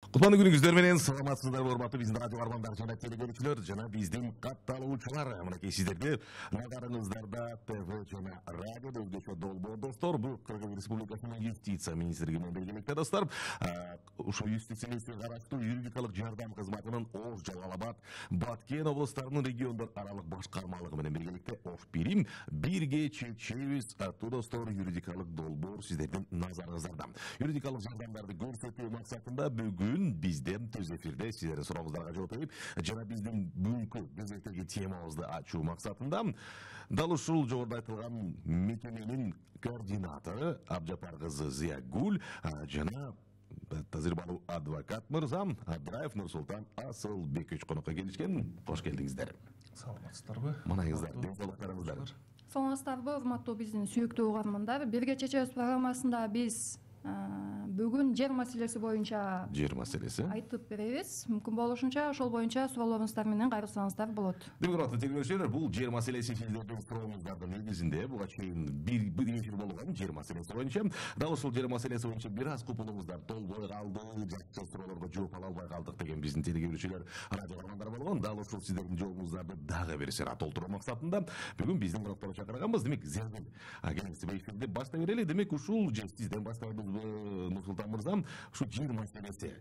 Кутмандуу күнүңүздөр менен саламатсыздарбы урматтуу биздин радио армандар жана телекөрүүчүлөр жана биздин катталуучулар. Мынакей сиздерге назарыңыздарда ТВ жана радио өзгөчө долбоор достор. Бул Кыргыз Республикасынын юстиция министрлиги менен белгилекте достор. Ушул юстицияга караштуу юридикалык жардам кызматынын Ош, Жалал Абад, Баткен облустарынын региондор аралык башкармалыгы менен белгилекте Ош Бирим бирге чечебиз аттуу достор юридикалык долбоор сиздердин назарыңыздарда. Юридикалык жардамдарды көрсөтүү максатында бүгүн бизден төз эфирде сиздердин сурооңуздарга жооп берип жана биздин бүгүнкү кезектеги темабызды ачуу максатында дал ушул жогоруда айтылган мекеменин координатору Абжапар кызы Зиягүл жана тазирбалуу адвокат мырза Абдраев Нурсултан Асылбекович конокко келишкен. Кош келдиңиздер. Саламатсыздарбы? Манайыңыздар, денсаулыктарыңыздар. Саламатсыздарбы, урматтуу биздин сүйүктүү угармандар. Бирге чечебиз программасында биз бүгүн жер маселеси боюнча айтып беребиз. Мүмкүн болушунча ошол боюнча суроолоруңуздар менен кайрылсаңыздар болот. Демек, урматтуу телекөрүүчүлөр, бул жер маселеси сиздердин сурооңуздардын негизинде буга чейин бир эфир болгон жер маселеси боюнча. Дал ушул жер маселеси боюнча бир аз купулуңуздар толбой калды, жакшы суроолорго жооп ала албай калдык деген биздин телекөрүүчүлөр радиоармандар болгон. Дал ушул сиздердин жообуңуздарды дагы бир сыйра толтуруу максатында бүгүн биздин конокторду чакырганбыз. Демек, кеңесте эфирди баштай берели. Демек, ушул же сизден баштайбызбы, Нурсултан мырза, ушу жер маселеси,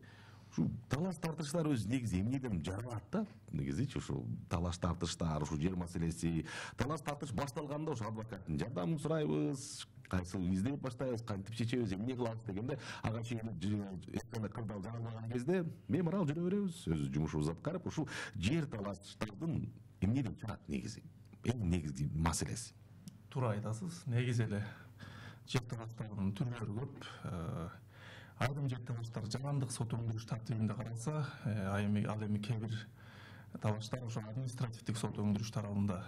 ушу талаш тартыштар өзү негизи эмнеден жаралат да? Негизичи ушу талаш тартыштар, ушу жер маселеси, талаш тартыш башталганда ушу адвокаттын жардамын сурайбыз, кайсыл издеп баштайбыз, кантип чечебиз, эмне кылабыз дегенде, ага чейин эскенде кырдаал жаңылбаган кезде меморал жүрө беребиз, өз жумушубузду аткарып, ушул жер талаштардын эмнеден чыгат негизи? Эң негизги маселеси. Туура айтасыз. Негизи эле жер талаштарынын түрлөрү көп. Айрым жер талаштар жарандык сот өндүрүш тартибинде каралса, ал эми кээ бир талаштар ошо административдик сот өндүрүш тарабында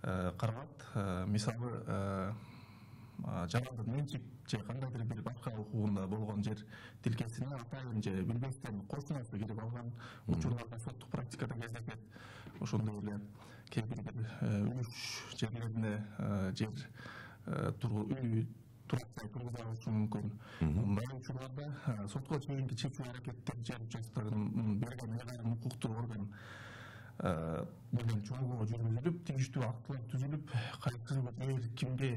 каралат. Мисалы, жарандын менчик же кандайдыр бир башка укугунда болгон жер тилкесине атайын же билбестен кошунасы кирип алган учурларда соттук практикада кездешет. Ошондой эле кээ бир үлүш жерлерине жер үй турактай тургуза алышы мүмкүн. Мындай учурларда сотко чейинки чечүү аракеттер жер участогун берген айрым укуктуу орган менен чогуу жүргүзүлүп, тийиштүү актылар түзүлүп, кайсы жер кимге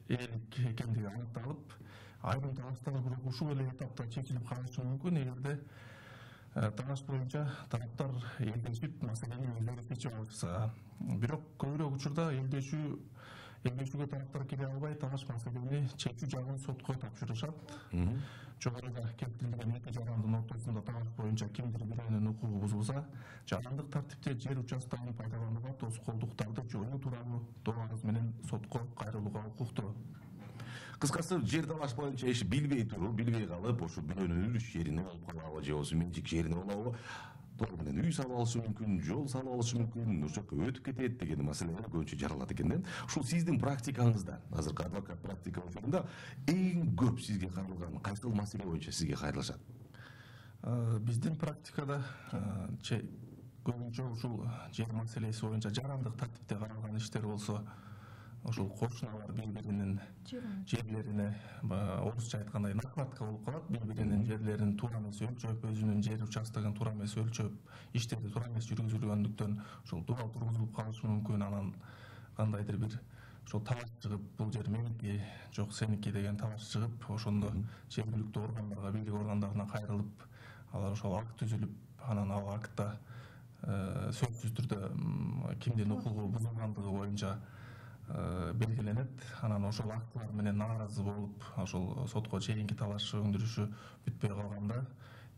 ээлик экендиги аныкталып, айрым талаштар бирок ушул эле этапта чечилип калышы мүмкүн эгерде талаш боюнча тараптар элдешип маселени өздөрү чечип алышса. Бирок көбүрөөк учурда элдешүүгө тараптар келе албай, талаш маселени чечүү жагын сотко тапшырышат. Жогоруда келтирилген эки жарандын ортосунда талаш боюнча кимдир бирөөнүн укугу бузулса, жарандык тартипте жер участогун пайдаланууга тоскоолдуктарды жоюу тууралуу доо арыз менен сотко кайрылууга укуктуу. Кыскасы, жер талаш боюнча иш билбей туруп, билбей калып, ошо бирөөнүн үлүш жерине болуп калабы же болбосо менчик жерине болобу, толугу менен үй салып алышы мүмкүн, жол салып алышы мүмкүн, ошол жака өтүп кетет деген маселелер көбүнчө жаралат экен да. Ушул сиздин практикаңызда, азыркы адвокат практика учурунда эң көп сизге кайрылган кайсыл маселе боюнча сизге кайрылышат? Биздин практикада көбүнчө ушул жер маселеси боюнча жарандык тартипте каралган иштер болсо, ошол кошуналар бири-биринин жерлерине, орусча айткандай накладка болуп калат, бири-биринин жерлерин туура эмес өлчөп, өзүнүн жер участогун туура эмес өлчөп, иштери туура эмес жүргүзүлгөндүктөн ошол дуал тургузулуп калышы мүмкүн. Анан кандайдыр бир ошол талаш чыгып, бул жер меники, жок сеники деген талаш чыгып, ошондо жергиликтүү органдарга, бийлик органдарына кайрылып, алар ошол акт түзүлүп, анан ал актта сөзсүз түрдө кимдин укугу бузулгандыгы боюнча белгиленет. Анан ошол актылар менен нааразы болуп, ошол сотко чейинки талаш өндүрүшү бүтпөй калганда,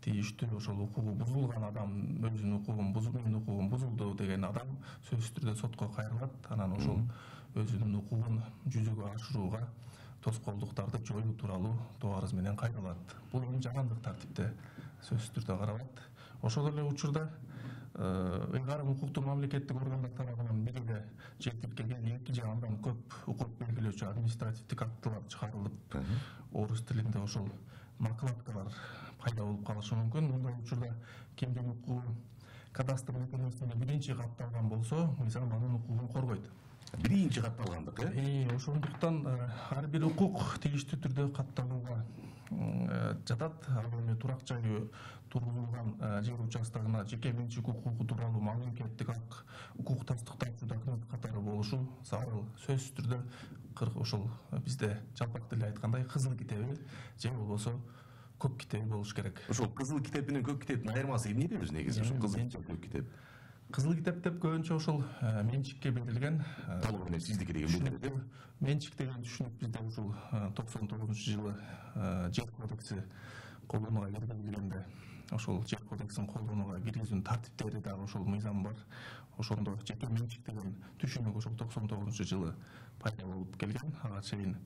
тийиштүү ошол укугу бузулган адам, өзүнүн укугун бузулду деген адам сөзсүз түрдө сотко кайрылат. Анан ошол өзүнүн укугун жүзөгө ашырууга тоскоолдуктарды жоюу тууралуу доо арыз менен кайрылат. Бул эми жарандык тартипте сөзсүз түрдө каралат. Ошол эле учурда айрым укуктуу мамлекеттик органдар тарабынан бир эле жер тилкеген эки же андан көп укук белгилөөчү административдик актылар чыгарылып, орус тилинде ошол накладкалар пайда болуп калышы мүмкүн. Мындай учурда кимдин укугу кадастр мекемесинде биринчи катталган болсо, мисалы анын укугун коргойт. Биринчи катталгандык, Ошондуктан ар бир укук тийиштүү түрдө катталууга жатат. Ал эми турак жайы тургузулган жер участогуна жеке менчик укугу тууралуу мамлекеттик укукташтык тапчыруу документ катары болушу зарыл. Сөзсүз түрдө ошол бизде жалпак тилде айткандай кызыл китеби же болбосо көк китеби болуш керек. Ошол кызыл китеп менен көк китептин айырмасы эмнеде өзү негизи? Ошол кызыл китеп, көк китеп. Кызыл китеп деп көбүнчө ошол менчикке берилген толугу менен сиздики деген билдирет. Менчик деген түшүнүк бизде ушул 99-жылы жер кодекси колдонууга киргизилгенде ошол жер кодексин колдонууга киргизүүнүн тартиптери дагы ошол мыйзам бар. Ошондо жеке менчик деген түшүнүк ошол 99-жылы пайда болуп келген. Ага чейин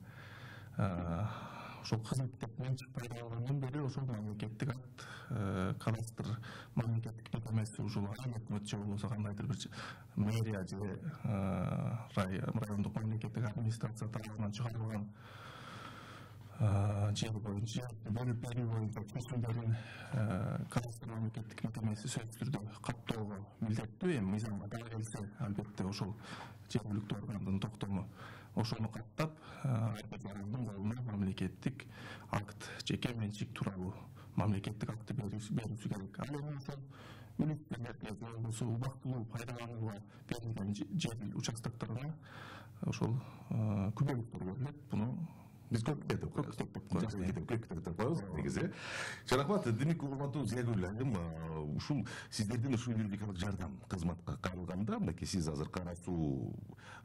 ошол кызыл китеп менчик пайда болгондон бери ошол мамлекеттик акт, кадастр мамлекеттик мекемеси ушул айыл өкмөт же болбосо кандайдыр бир мэрия же райондук мамлекеттик администрация тарабынан чыгарылган жер боюнча бөлүп берүү боюнча чечимдерин кадастр мамлекеттик мекемеси сөзсүз түрдө каттоого милдеттүү. Эми мыйзамга дагы келсе, албетте ошол жер мүлктүү органдын токтому ошону каттап ар бир жарандын колуна мамлекеттик акт, жеке менчик тууралуу мамлекеттик акты берүүсү керек. Ал эми ошол мүлүктүүлөргө же болбосо убактылуу пайдаланууга берилген жер участокторуна ошол күбөлүктөр берилет. Буну биз көк китеп деп коебуз. Көк китеп деп коебуз негизи. Чарахмат, демек урматтуу Зиягүл айым, ушул сиздердин ушул юридикалык жардам кызматка кайрылганда, мынакей сиз азыр Кара Суу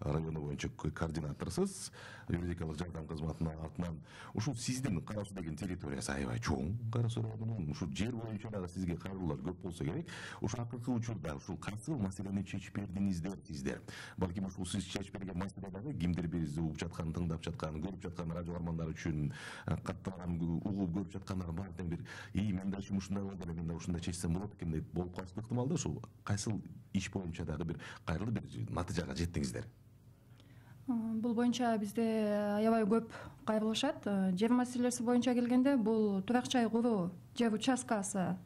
району боюнча координаторсуз, юридикалык жардам кызматынын артынан ушул сиздин Кара Суу деген территориясы аябай чоң. Кара Суу районунун ушул жер боюнча дагы сизге кайрылуулар көп болсо керек. Ушул акыркы учурда ушул кайсы маселени чечип бердиңиздер сиздер? Балким ушул сиз чечип берген маселе дагы кимдир бизди угуп жаткан, тыңдап жаткан, көрүп жаткан радио армандар үчүн катталган угуп көрүп жаткандар баардыгы бир мен да ишим ушундай болду эле, мен да ушундай чечсем болот экен деп болуп калышы ыктымал да. Ушул кайсыл иш боюнча дагы бир кайрылып бир натыйжага жеттиңиздер? Бул боюнча бизде аябай көп кайрылышат. Жер маселеси боюнча келгенде бул турак жай куруу жер участкасы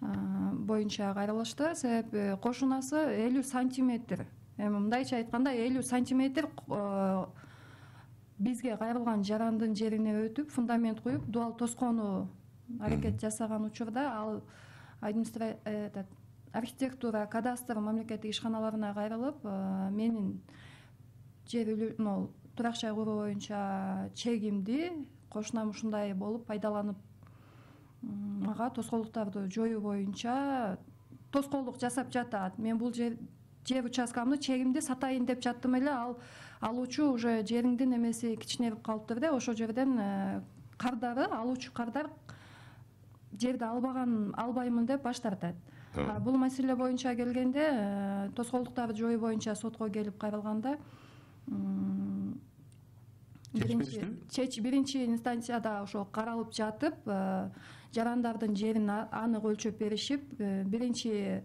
боюнча кайрылышты. Себеби кошунасы 50 сантиметр. Эми мындайча айтканда 50 сантиметр бизге кайрылган жарандын жерине өтүп, фундамент куюп, дуал тоскону аракет жасаган учурда ал архитектура, кадастр мамлекеттик ишканаларына кайрылып, менин жер турак жай куруу боюнча чегимди кошунам ушундай болуп пайдаланып, ага тоскоолдуктарды жоюу боюнча тоскоолдук жасап жатат. Мен бул жер участкамды чегимди сатайын деп жаттым эле, алуучу уже жериңдин эмеси кичинерип калыптыр да, ошол жерден кардары, алуучу кардар жерди албаймын деп баш тартат. Бул маселе боюнча келгенде, тоскоолдуктарды жоюу боюнча сотко келип кайрылганда, биринчи инстанцияда ошол каралып жатып, жарандардын жерин анык өлчөп беришип, биринчи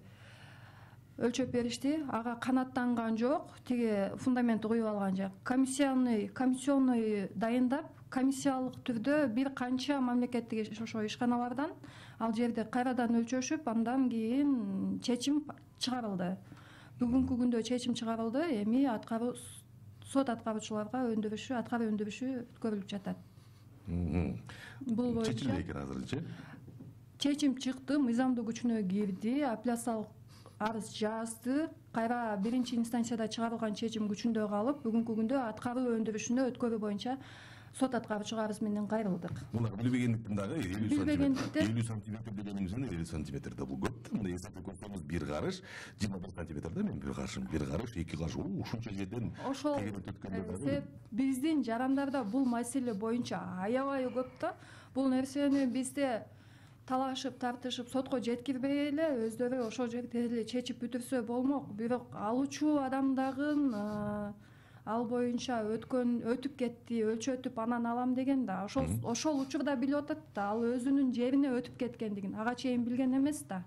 өлчөп беришти. Ага канаттанган жок, тиги фундаментти куюп алган жок. Комиссионный дайындап, комиссиялык түрдө бир канча мамлекеттик ошо ишканалардан ал жерди кайрадан өлчөшүп, андан кийин чечим чыгарылды. Бүгүнкү күндө чечим чыгарылды. Эми сот аткаруучуларга аткаруу өндүрүшү өткөрүлүп жатат. Бул боюнча чечилди экен азырынча. Чечим чыкты, мыйзамдуу күчүнө кирди, апелляциялык арыз жазды. Кайра биринчи инстанцияда чыгарылган чечим күчүндө калып, бүгүнкү күндө аткаруу өндүрүшүнө өткөрүү боюнча сот аткаруучуга арыз менен кайрылдык. Муну билбегендиктен дагы 50 сантиметр дегенибизден 50 сантиметр да бул көп. Мына эсептеп көрсөңүз, бир карыш 25 сантиметр да, мен бир карышым, бир карыш, эки карыш, ушунча жерден тегереп өткөндө дагы. Биздин жарандарда бул маселе боюнча аябай көп да. Бул нерсени бизде талашып, тартышып, сотко жеткирбей эле өздөрү ошол жерде эле чечип бүтүрсө болмок. Бирок алуучу адамдагын ал боюнча өтүп кетти, өлчөтүп анан алам деген да. Ошол учурда билип атат да, ал өзүнүн жерине өтүп кеткендигин ага чейин билген эмес да.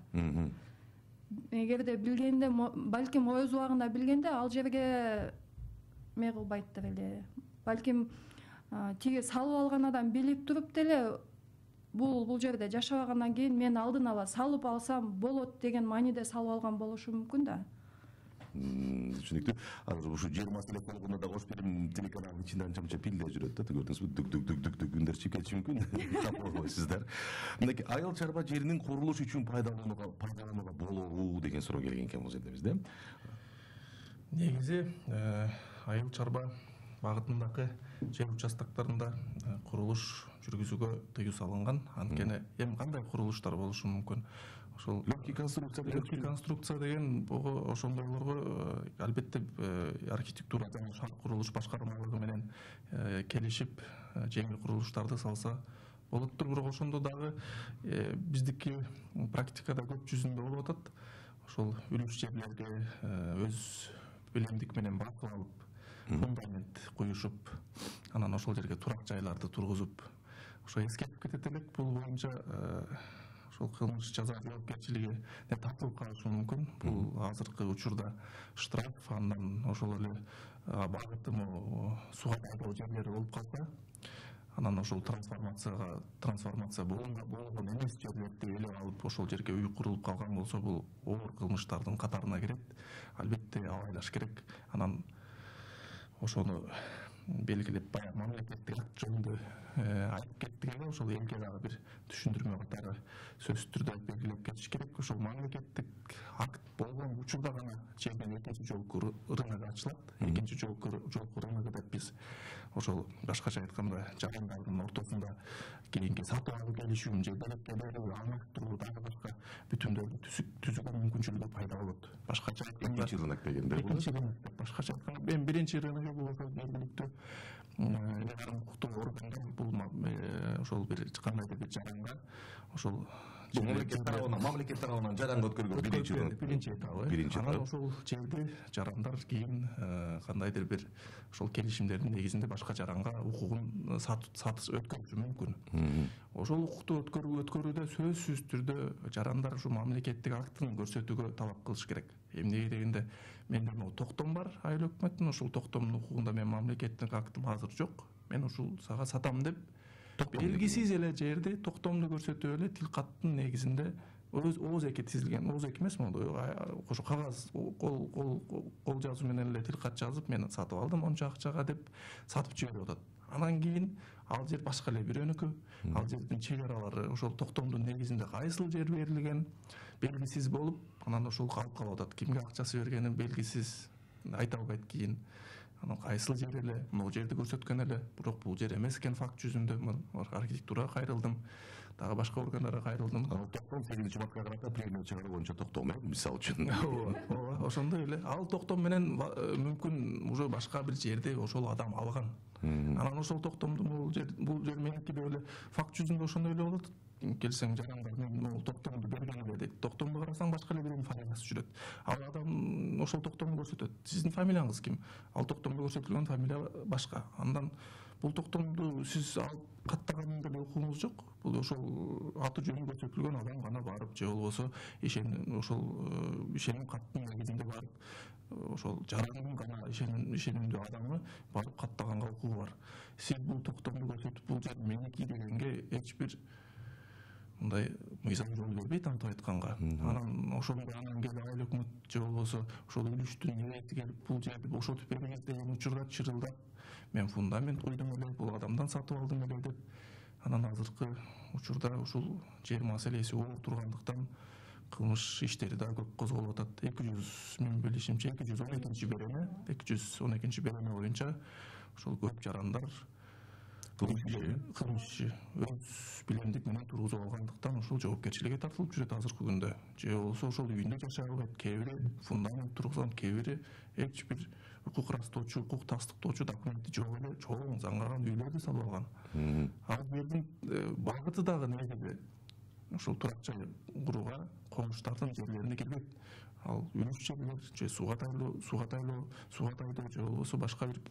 Эгерде билгенде, балким өз убагында билгенде ал жерге эме кылбайттыр эле. Балким тиги салып алган адам билип туруп деле бул жерде жашабагандан кийин мен алдын ала салып алсам болот деген мааниде салып алган болушу мүмкүн да. Түшүнүктүү. Азыр ушу жер маселеси болгондо да кош берим телеканалдын ичинде анча мынча пилде жүрөт да, көрдүңүзбү? Дүк үндөр чыгып кетиши мүмкүн. Тапкойсуздар. Мынакей айыл чарба жеринин курулуш үчүн пайдаланууга болобу деген суроо келген экен бул жерде бизде. Негизи айыл чарба багытындагы жер участоктарында курулуш жүргүзүүгө тыюу салынган. Анткени эми кандай курулуштар болушу мүмкүн? Ошол легкий конструкция деген ошондойлорго албетте архитектура жана шаар курулуш башкармалыгы менен келишип жеңил курулуштарды салса болоттур. Бирок ошондо дагы биздики практикада көп жүзүндө болуп атат. Ошол үлүш жерлерди өз билимдик менен басып алып, фундамент куюшуп, анан ошол жерге турак жайларды тургузуп, ошо эскертип кетет элек. Бул боюнча ошол кылмыш жаза жоопкерчилиги тартылып калышы мүмкүн. Бул азыркы учурда штраф, андан ошол эле багытымы сууга тайдоо жерлери болуп калса, анан ошол трансформация болгон эмес жерлерди ээлеп алып, ошол жерге үй курулуп калган болсо, бул оор кылмыштардын катарына кирет. Албетте абайлаш керек. Анан ошону белгилеп, баягы мамлекеттик акт жөнүндө айтып кеттик эле, ошол элге дагы бир түшүндүрмө катары сөзсүз түрдө белгилеп кетиш керек. Ошол мамлекеттик акт болгон учурда гана жерден экинчи жолку рынок ачылат. Экинчи жолку рынок деп биз ошол башкача айтканда жарандардын ортосунда кийинки сатып алуу келишүүн же белекке берүү, алмаштыруу, дагы башка бүтүмдөрдү түзүүгө мүмкүнчүлүгү пайда болот. Башкача айтканда экинчи рынок дегенде экинчи рынок деп башкача айтканда эми биринчи рынок бул ошол жергиликтүү укуктуу органдар бул ошол бир кандайдыр бир жаранга ошол мамлекет тарабынан жаранга өткөргөн биринчи этабы. Анан ошол жерди жарандар кийин кандайдыр бир ошол келишимдердин негизинде башка жаранга укугун сатыш өткөрүшү мүмкүн. Ошол укукту өткөрүүдө сөзсүз түрдө жарандар ушу мамлекеттик актын көрсөтүүгө талап кылыш керек. Эмнеге дегенде, менде могу токтом бар айыл өкмөттүн, ошол токтомдун укугунда мен мамлекеттик актым азыр жок. Мен ушул сага сатам деп белгисиз эле жерди токтомду көрсөтүп эле тил каттын негизинде ооз эки тизилген, ооз эки эмес могу ошо кагаз кол жазуу менен эле тил кат жазып, мен сатып алдым онча акчага деп сатып жиберип атат. Анан кийин ал жер башка эле бирөөнүкү, ал жердин чек аралары ошол токтомдун негизинде кайсыл жер берилген белгисиз болуп, анан ошол калып калып атат. Кимге акчасы бергени белгисиз, айта албайт кийин. Анан кайсыл жер эле, могу жерди көрсөткөн эле, бирок бул жер эмес экен факт жүзүндө. Архитектурага кайрылдым, дагы башка органдарга кайрылдым. Токтом 8 мартка карата премия чыгаруу боюнча токтом, мисалы үчүн. Ооба, ошондой эле. Ал токтом менен мүмкүн уже башка бир жерди ошол адам алган. Анан ошол токтомду бул жер меники деп эле факт жүзүндө ошондой эле болот. Келсең жарандар мен могу токтомду берген эле дейт. Токтомду карасаң башка эле бирөөнүн фамилиясы жүрөт. Ал адам ошол токтомду көрсөтөт. Сиздин фамилияңыз ким? Ал токтомдо көрсөтүлгөн фамилия башка. Андан бул токтомду сиз алып каттаганын деле укугуңуз жок. Бул ошол аты жөнү көрсөтүлгөн адам гана барып, же болбосо ишеним каттын негизинде барып, ошол жарандын гана ишенимдүү адамы барып каттаганга укугу бар. Сиз бул токтомду көрсөтүп, бул жер меники дегенге эч бир мындай мыйзам жол бербейт, антип айтканга. Анан ошондо келип айыл өкмөт же болбосо ошол үлүштүн ээси келип бул жерди бошотуп бериңиз деген учурда чырылдап, мен фундамент куйдум эле, бул адамдан сатып алдым эле деп. Анан азыркы учурда ушул жер маселеси оор тургандыктан кылмыш иштери да көп козголуп атат. 200 мен билишимче 212 береме боюнча ошол көп жарандар кылмыш өз билимдик менен тургузуп алгандыктан ошол жоопкерчиликке тартылып жүрөт азыркы күндө. Же болбосо ошол үйүндө жашай албайт, кээ бири фундамент тургузган, кээ бири эч бир укук ырастоочу, укук тастыктоочу документи жок эле чоң заңгаган үйлөрдү салып алган. Ал жердин багыты дагы негизи ошол турак жай курууга комуштардын жерлерине кирбейт. Ал үлүш жерлер же сууга тайдоо же болбосо башка бир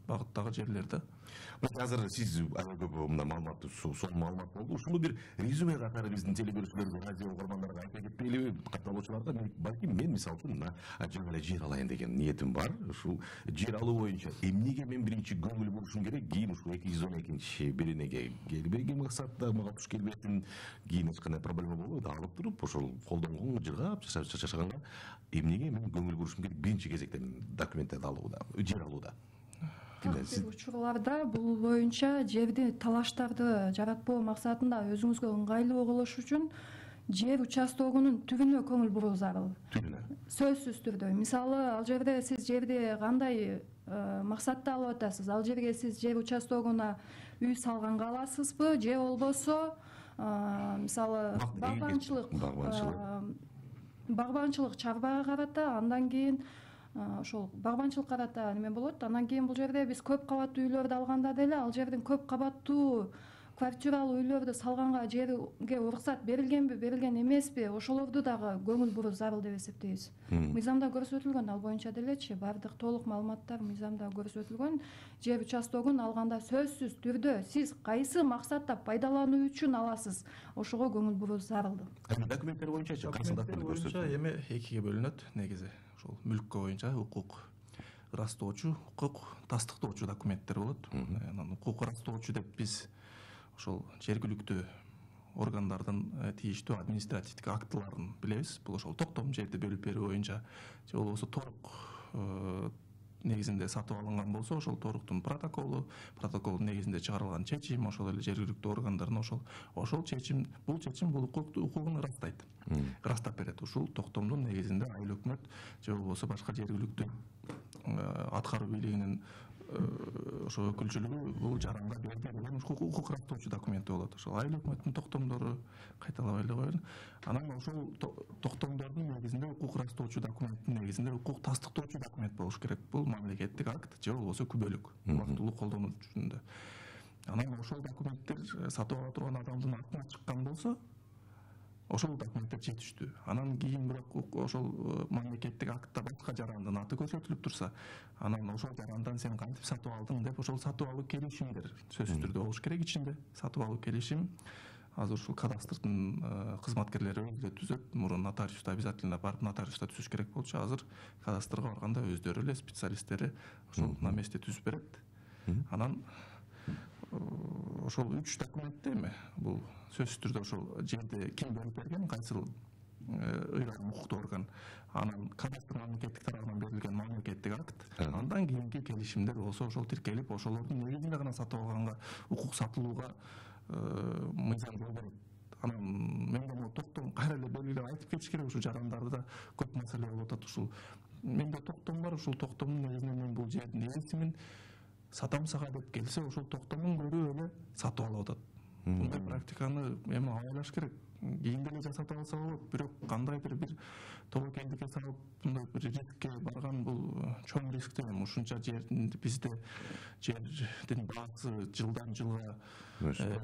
багыттагы жерлерде. Азыр сиз аябай көп мындай маалыматты, сонун маалымат болду. Ушуну бир резюме катары биздин телегөрүүчүлөргө, радио угармандарга айта кетпейлиби, катталуучуларга? Мен мисалы үчүн жаңы эле жер алайын деген ниетим бар. Ушул жер алуу боюнча эмнеге мен биринчи көңүл бурушум керек? Кийин ушул 212 беренеге келбеген максатта мага туш келбесин, кийин эч кандай проблема болбойт, алып туруп ошол колдонгон жыргап жашаганга эмнеге мен көңүл бурушум керек биринчи кезекте документтерди алууда, жер алууда. Бир учурларда бул боюнча жерди талаштарды жаратпоо максатында өзүңүзгө ыңгайлуу кылыш үчүн жер участогунун түрүнө көңүл буруу зарыл. Түрүнө. Сөзсүз түрдө. Мисалы, ал жерде сиз жерди кандай максатта алып атасыз? Ал жерге сиз жер участогуна үй салганга аласызбы, же болбосо мисалы багбанчылык чарбага карата, андан кийин ошол багбанчылык карата неме болот. Андан кийин бул жерде биз көп кабаттуу үйлөрдү алганда деле ал жердин көп кабаттуу квартиралуу үйлөрдү салганга жерге уруксат берилгенби, берилген эмеспи, ошолорду дагы көңүл буруу зарыл деп эсептейбиз. Мыйзамда көрсөтүлгөн, ал боюнча делечи баардык толук маалыматтар мыйзамда көрсөтүлгөн. Жер участогун алганда сөзсүз түрдө сиз кайсы максатта пайдалануу үчүн аласыз, ошого көңүл буруу зарыл. Документтер боюнча кайсы документтер боюнча эми экиге бөлүнөт негизи. Ошол мүлккө боюнча укук ырастоочу, укук тастыктоочу документтер болот. Анан укук ырастоочу деп биз ошол жергиликтүү органдардын тийиштүү административдик актыларын билебиз. Бул ошол токтом жерди бөлүп берүү боюнча же болбосо торук негизинде сатып алынган болсо, ошол торуктун протоколдун негизинде чыгарылган чечим, ошол эле жергиликтүү органдардын ошол чечим, бул укугун ырастайт. Ырастап берет. Ушул токтомдун негизинде айыл өкмөт же болбосо башка жергиликтүү аткаруу бийлигинин ошо өкүлчүлүгү бул жаранга берди деген укук ырастоочу документи болот. Ошол айыл өкмөттүн токтомдору кайталабай эле коеюн. Анан ошол токтомдордун негизинде укук ырастоочу документтин негизинде укук тастыктоочу документ болуш керек. Бул мамлекеттик акт же болбосо күбөлүк убактылуу колдонуу жөнүндө. Анан ошол документтер сатып ала турган адамдын атына чыккан болсо, ошол документтер жетиштүү. Анан кийин бирок ошол мамлекеттик актта башка жарандын аты көрсөтүлүп турса, анан ошол жарандан сен кантип сатып алдың деп ошол сатып алуу келишимдер сөзсүз түрдө болуш керек ичинде. Сатып алуу келишим азыр ушул кадастрдын кызматкерлери өзү түзөт. Мурун нотариуста обязательно барып нотариуста түзүш керек болчу. Азыр кадастрга барганда өздөрү эле специалисттери ошол на месте түзүп берет. Анан ошол 3 документте эми бул сөзсүз түрдө ошол жерди ким бөлүп берген, кайсыл ыйгарым укуктуу орган, анан кадастр мамлекеттик тарабынан берилген мамлекеттик акт, андан кийинки келишимдер болсо ошол тиркелип, ошолордун негизинде гана сатып алганга, укук сатылууга мыйзам жол берет. Анан менде могу токтом кайра эле белгилеп айтып кетиш керек, ушул жарандарда көп маселе болуп атат. Ушул менде токтом бар, ушул токтомдун негизинде мен бул жердин ээлисимин, сатам сага деп келсе, ошол токтомун көрүп эле сатып алып атат. Мындай практиканы эми абайлаш керек. Кийин деле жасатып алса болот, бирок кандайдыр бир тобокелдикке салып, мындай бир рискке барган бул чоң риск дейм. Ушунча жердин бизде жердин баасы жылдан жылга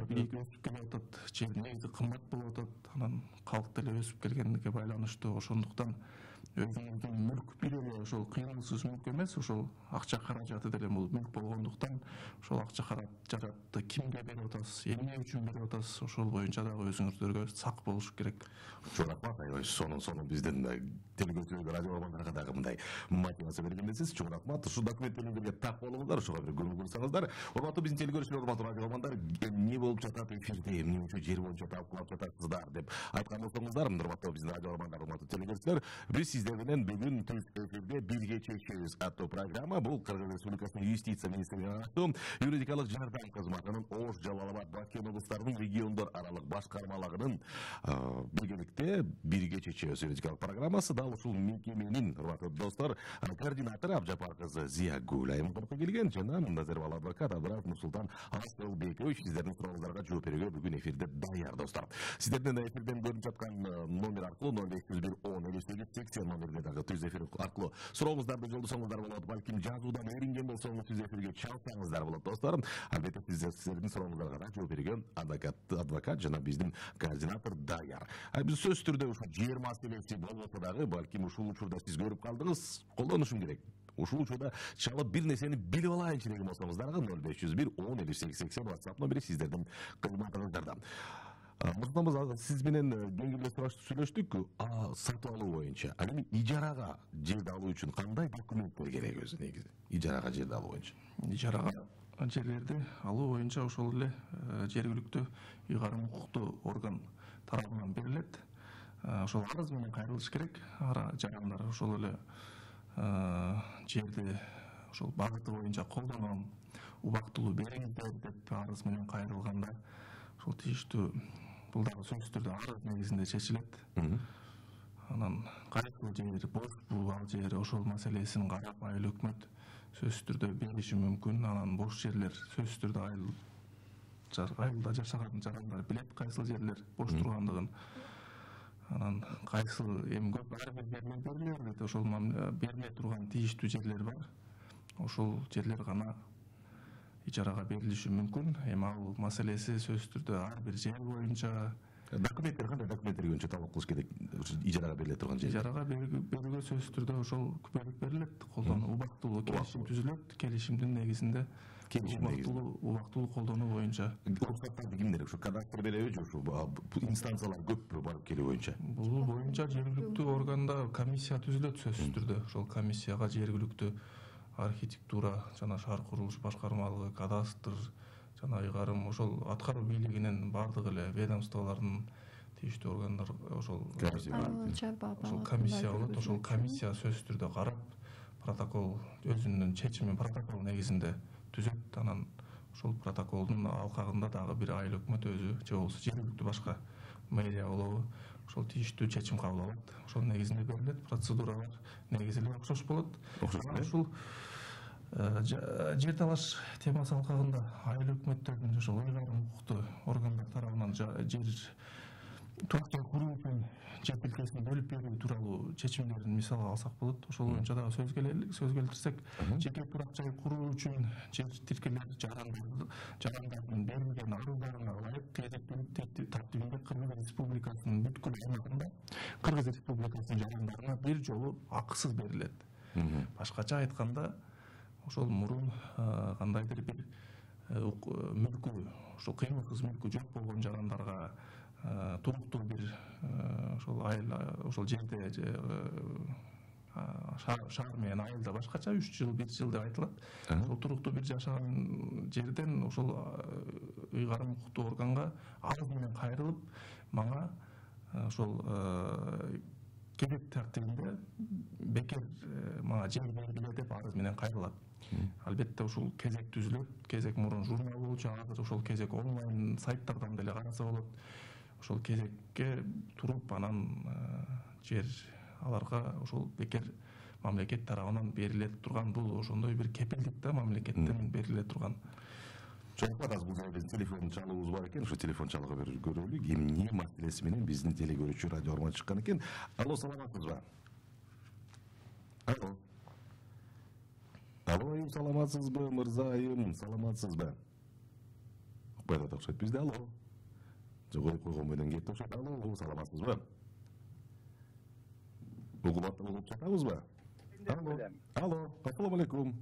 бийик өсүп келатат, жер негизи кымбат болуп атат. Анан калк деле өсүп келгендикке байланыштуу, ошондуктан өзүңүздүн мүлк бир эле ошол кыймылсыз мүлк эмес, ошол акча каражаты деле бул мүлк болгондуктан ошол акча каражатты кимге берип атасыз, эмне үчүн берип атасыз, ошол боюнча дагы өзүңүздөргө сак болуш керек. Чоң рахмат, аябай сонун биздин телегөзчүлөр радио бармандарга дагы мындай мотивация бергендесиз. Чоң рахмат. Ушул документтерге так болуңуздар, ошого бир көңүл бурсаңыздар. Урматтуу биздин телегөзчүлөр, урматтуу радио бармандар, эмне болуп жатат эфирде, эмне үчүн жер боюнча талкуулап жатасыздар деп айткан болсоңуздар, урматтуу биздин радио бармандар, урматтуу телегөзчүлөр, биз сиздер менен бүгүн түз эфирде бирге чечебиз аттуу программа. Бул Кыргыз Республикасынын юстиция министрлигине аттуу юридикалык жардам кызматынын Ош, Жалал абад, Баткен облустарынын региондор аралык башкармалыгынын биргеликте бирге чечебиз юридикалык программасы. Дал ушул мекеменин, урматтуу достор, координатору Абжапар кызы Зия Гулайым кыркы келген жана Назарбал адвокат Абдраз Нурсултан Асылбекович сиздердин сурооңуздарга жооп берүүгө бүгүн эфирде даяр достор. Сиздердин эфирден көрүнүп жаткан номер аркылуу 0501 10 номерге дагы түз эфир аркылуу сурооңуздарды жолдосоңуздар болот. Балким жазуудан өрүнгөн болсоңуз түз эфирге чалсаңыздар болот достор. Албетте сиздердин сурооңуздарга да жооп берүүгө адвокат жана биздин координатор даяр. Биз сөз түрдө ушул жер маселеси болбосо дагы, балким ушул учурда сиз көрүп калдыңыз, колдонушум керек. Ушул учурда чалып бир нерсени билип алайынчы деген болсоңуздарга 0501 10 5880 WhatsApp номери сиздердин кызматыңыздарда. Муртамыз сиз менен кеңирлеп сүйлөштүк сатып алуу боюнча. Ал эми ижарага жерди алуу үчүн кандай документтер керек өзү негизи? Ижарага жерди алуу боюнча. Ижарага жерлерди алуу боюнча ошол эле жергиликтүү ыйгарым укуктуу орган тарабынан берилет. Ошол арыз менен кайрылыш керек. Жарандар ошол эле жерди ошол багыты боюнча колдоном, убактылуу бериңиздер деп арыз менен кайрылганда ошол тийиштүү бул дагы сөзсүз түрдө арыз негизинде чечилет. Анан кайсыл жери бошпу, ал жери ошол маселесин карап айыл өкмөт сөзсүз түрдө бериши мүмкүн. Анан бош жерлер сөзсүз түрдө айылда жашаган жарандар билет кайсыл жерлер бош тургандыгын. Анан кайсыл эми көп ар бир жерлер бериле берет, ошол бериле турган тийиштүү жерлер бар. Ошол жерлер гана ижарага берилиши мүмкүн. Эми ал маселеси сөзсүз түрдө ар бир жер боюнча документтер кандай документтер боюнча талап кылыш керек ижарага бериле турган жер? Ижарага берүүгө сөзсүз түрдө ошол күбөлүк берилет, колдонуу убактылуу келишим түзүлөт. Келишимдин негизинде убактылуу колдонуу боюнча. Уруксаттарды кимдер? Ушу кадастр береби же ушу инстанциялар көппү барып келүү боюнча? Бул боюнча жергиликтүү органда комиссия түзүлөт сөзсүз түрдө. Ошол комиссияга жергиликтүү архитектура жана шаар курулуш башкармалыгы, кадастр жана ыйгарым ошол аткаруу бийлигинин бардык эле ведомстволордун тийиштүү органдар ошол комиссия болот. Ошол комиссия сөзсүз түрдө карап, протокол өзүнүн чечимин протокол негизинде түзөт. Анан ошол протоколдун алкагында дагы бир айыл өкмөт өзү же болбосо жергиликтүү башка мэрия болобу ошол тийиштүү чечим кабыл алат. Ошол негизинде берилет. Процедуралар негизи эле окшош болот. Ушул жер талаш темасы алкагында айыл өкмөттөрдүн ошол ыйгарым укуктуу органдар тарабынан жер турак-жай куруу үчүн жер тилкесин бөлүп берүү тууралуу чечимдерин мисалга алсак болот. Ошол боюнча дагы сөз келтирсек, жеке турак-жай куруу үчүн жер тилкелер жарандардын берилген арыздарына ылайык кезектүүлүк тартибинде Кыргыз Республикасынын бүткүл аймагында Кыргыз Республикасынын жарандарына бир жолу акысыз берилет. Башкача айтканда, ошол мурун кандайдыр бир мүлкү, ошол кыймылсыз мүлкү жок болгон жарандарга туруктуу бир ошол айыл ошол жерде шаар менен айылда башкача 3 жыл 1 жыл деп айтылат. Ошол туруктуу бир жашаган жерден ошол ыйгарым укуктуу органга арыз менен кайрылып, мага ошол кезек тартибинде бекер мага жер бергиле деп арыз менен кайрылат. Албетте ушул кезек түзүлөт. Кезек мурун журнал болчу, азыр ошол кезек онлайн сайттардан деле караса болот. Ошол кезекке туруп, анан жер аларга ошол бекер мамлекет тарабынан бериле турган, бул ошондой бир кепилдик да, мамлекеттен бериле турган. Чоң атасы бул жерде телефон чалуубуз бар экен, ошо телефон чалгы берип көрөлү. Эмне маселеси менен биздин телегөрүүчү радио арман чыккан экен. Алло, саламатсызбы? Алло. Алло, саламатсызбы, мырзайым, саламатсызбы? Укпай атат окшойт бизде. Алло. Коюп койгон менен кетти окшойт. Алло, саламатсызбы? Угулуп жатабызбы? Алло. Алло, ассаламу алейкум.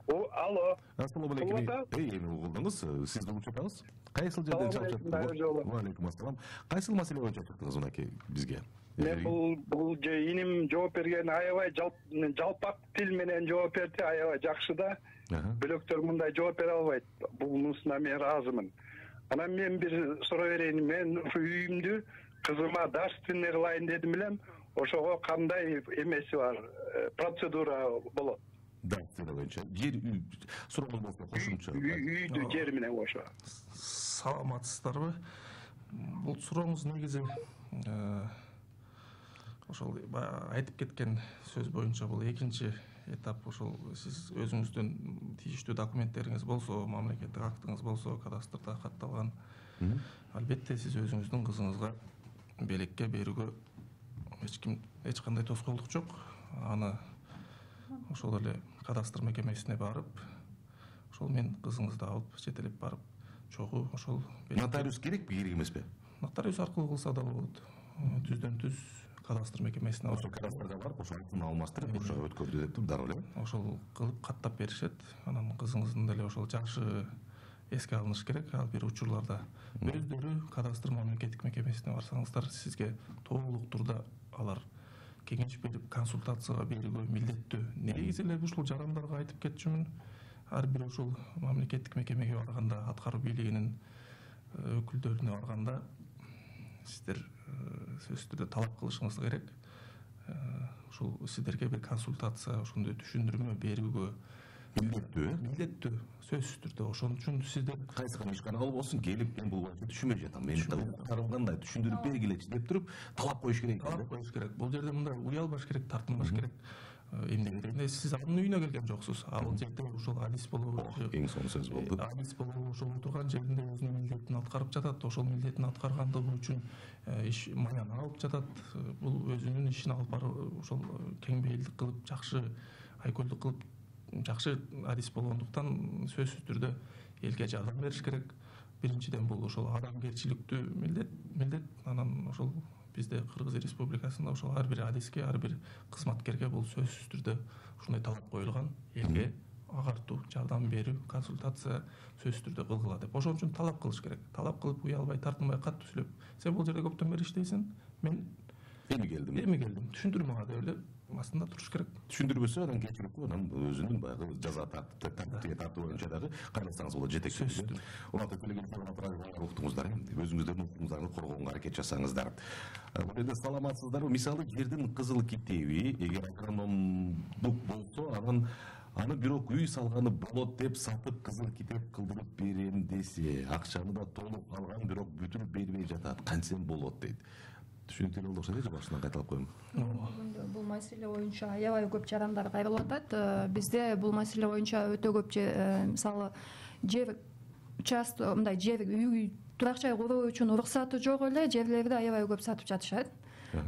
Алло. Ассаламу алейкум. Эми угулдуңуз, сиз угулуп жатабыз? Кайсыл жерден чалып жатасыз? Ва алейкум ассалам. Кайсыл маселе боюнча чыктыңыз мынакей бизге? Мен бул иним жооп берген аябай жалпак тил менен жооп берди, аябай жакшы да. Бөлөктөр мындай жооп бере албайт. Бунусуна мен ыраазымын. Анан мен бир суроо берейин. Мен ушу үйүмдү кызыма дарстин кылайын дедим элем. Ошого кандай эмеси бар, процедура болот? Дарстин боюнча жер сурооңуз болсо кошумча. Үйдү жер менен кошо. Саламатсыздарбы? Бул сурооңуз негизи ошол айтып кеткен сөз боюнча бул экинчи этап. Ошол сиз өзүңүздүн тийиштүү документтериңиз болсо, мамлекеттик актыңыз болсо, кадастрда катталган, албетте сиз өзүңүздүн кызыңызга белекке берүүгө эч кандай тоскоолдук жок. Аны ошол эле кадастр мекемесине барып, ошол мен кызыңызды алып жетелеп барып, чогуу ошол нотариус керекпи, керек эмеспи? Нотариус аркылуу кылса да болот. Түздөн түз кадастр мекемесине ошол кадастрга барып, ошол алтын алмаштырып, ошо өткөрдү деп дароо эле. Ошол кылып каттап беришет. Анан кызыңыздын деле ошол жашы эске алыныш керек. Ал бир учурларда өздөрү кадастр мамлекеттик мекемесине барсаңыздар, сизге толук турда алар кеңеш берип, консультацияга берүүгө милдеттүү. Негизи эле ушул жарандарга айтып кетчүмүн. Ар бир ушул мамлекеттик мекемеге барганда, аткаруу бийлигинин өкүлдөрүнө барганда, сиздер сөзсүз түрдө талап кылышыңыз керек. Ушул сиздерге бир консультация, ошондой түшүндүрмө берүүгө милдеттүү сөзсүз түрдө. Ошон үчүн сиздер кайсы ишкана болбосун келип, мен бул боюнча түшүнбөй жатам, менин тарым кандай түшүндүрүп бергилечи деп туруп талап коюш керек. Бул жерде мындай уялбаш керек, тартынбаш керек. Эмне дегенде сиз анын үйүнө келген жоксуз. Ал жерде ошол адис болобу, эң сонун сөз болду. Адис болобу, ошол отурган жеринде өзүнүн милдетин аткарып жатат. Ошол милдетин аткаргандыгы үчүн иш маяны алып жатат. Бул өзүнүн ишин алып барып, ошол кең бейилдик кылып, жакшы айкөлдүк кылып, жакшы адис болгондуктан сөзсүз түрдө элге жардам бериш керек. Биринчиден бул ошол адамгерчиликтүү милдет. Анан ошол бизде Кыргыз Республикасында ошол ар бир адиске, ар бир кызматкерге бул сөзсүз түрдө ушундай талап коюлган. Элге агартуу, жардам берүү, консультация сөзсүз түрдө кылгыла деп. Ошон үчүн талап кылыш керек. Талап кылып, уялбай, тартынбай, катуу сүйлөп. Сен бул жерде көптөн бери иштейсиң, мен эми келдим. Түшүндүрмө деп эле астында туруш керек. Түшүндүрбөсө анан кечирип анан өзүнүн баягы жаза тартипке тартуу боюнча дагы кайласаңыз болот, жетекчилик. Урматтуу телегезиттер, уктуңуздар, өзүңүздөрдүн укугуңуздарды коргоого аракет жасаңыздар. Бул жерде саламатсыздарбы? Мисалы, жердин кызыл китеби эгер агрономдук болсо, аны бирок үй салганы болот деп сатып кызыл китеп кылдырып берем десе, акчаны да толук алган, бирок бүтүрүп бербей жатат. Кантсем болот дейт. Түшүнүктүү болду окшойт, же башынан кайталап коеюн? Бул маселе боюнча аябай көп жарандар кайрылып атат. Бизде бул маселе боюнча өтө көп, мисалы, жер участок, мындай жер үй турак жай куруу үчүн уруксаты жок эле жерлерди аябай көп сатып жатышат.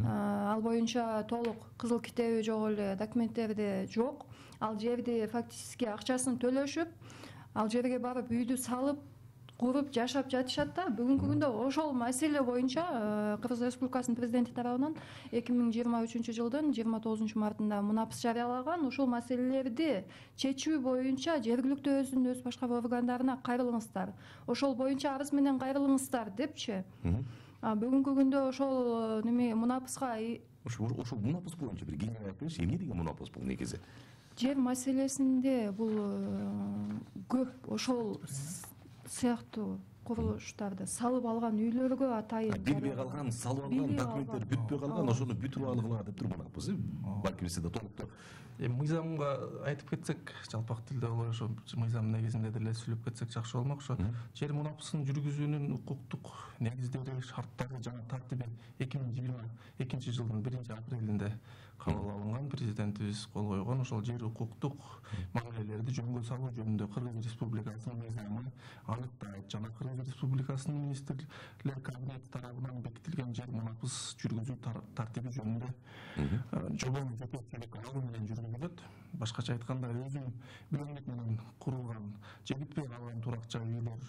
Ал боюнча толук кызыл китеби жок эле, документтерди жок. Ал жерди фактически акчасын төлөшүп, ал жерге барып үйдү салып, куруп жашап жатышат да. Бүгүнкү күндө ошол маселе боюнча Кыргыз Республикасынын президенти тарабынан 2023 жылдын 29 мартында мунапыс жарыялаган. Ушул маселелерди чечүү боюнча жергиликтүү өзүнүн өз башкаруу органдарына кайрылыңыздар. Ошол боюнча арыз менен кайрылыңыздар депчи. Бүгүнкү күндө ошол мунапыска ошол мунапыс боюнча бир кеңири айтып бериши, эмне деген мунапыс бул негизи? Жер маселесинде бул көп ошол сыяктуу курулуштарды салып алган үйлөргө атайын бербей калган, салып алган, документтер бүтпөй калган, ошону бүтүрүп алгыла деп туруп мунапыс. Балким сизде толуктуу мыйзамга айтып кетсек, жалпак тилде болобу, ошо мыйзам негизинде деле сүйлөп кетсек жакшы болмок. Ошо жер мунапысын жүргүзүүнүн укуктук негиздери, шарттары жана тартиби 2022 жылдын 1-апрелинде кабыл алынган, президентибиз кол койгон. Ошол жер укуктук мамилелерди жөнгө салуу жөнүндө Кыргыз Республикасынын мыйзамы аныктайт жана Кыргыз Республикасынын министрлер кабинети тарабынан бекитилген жер мунапыс жүргүзүү тартиби жөнүндө жобонун жетекчилик алуу менен жүргүзүлөт. Башкача айтканда, өзүн билимдик менен курулган, же бүтпөй калган турак жай үйлөр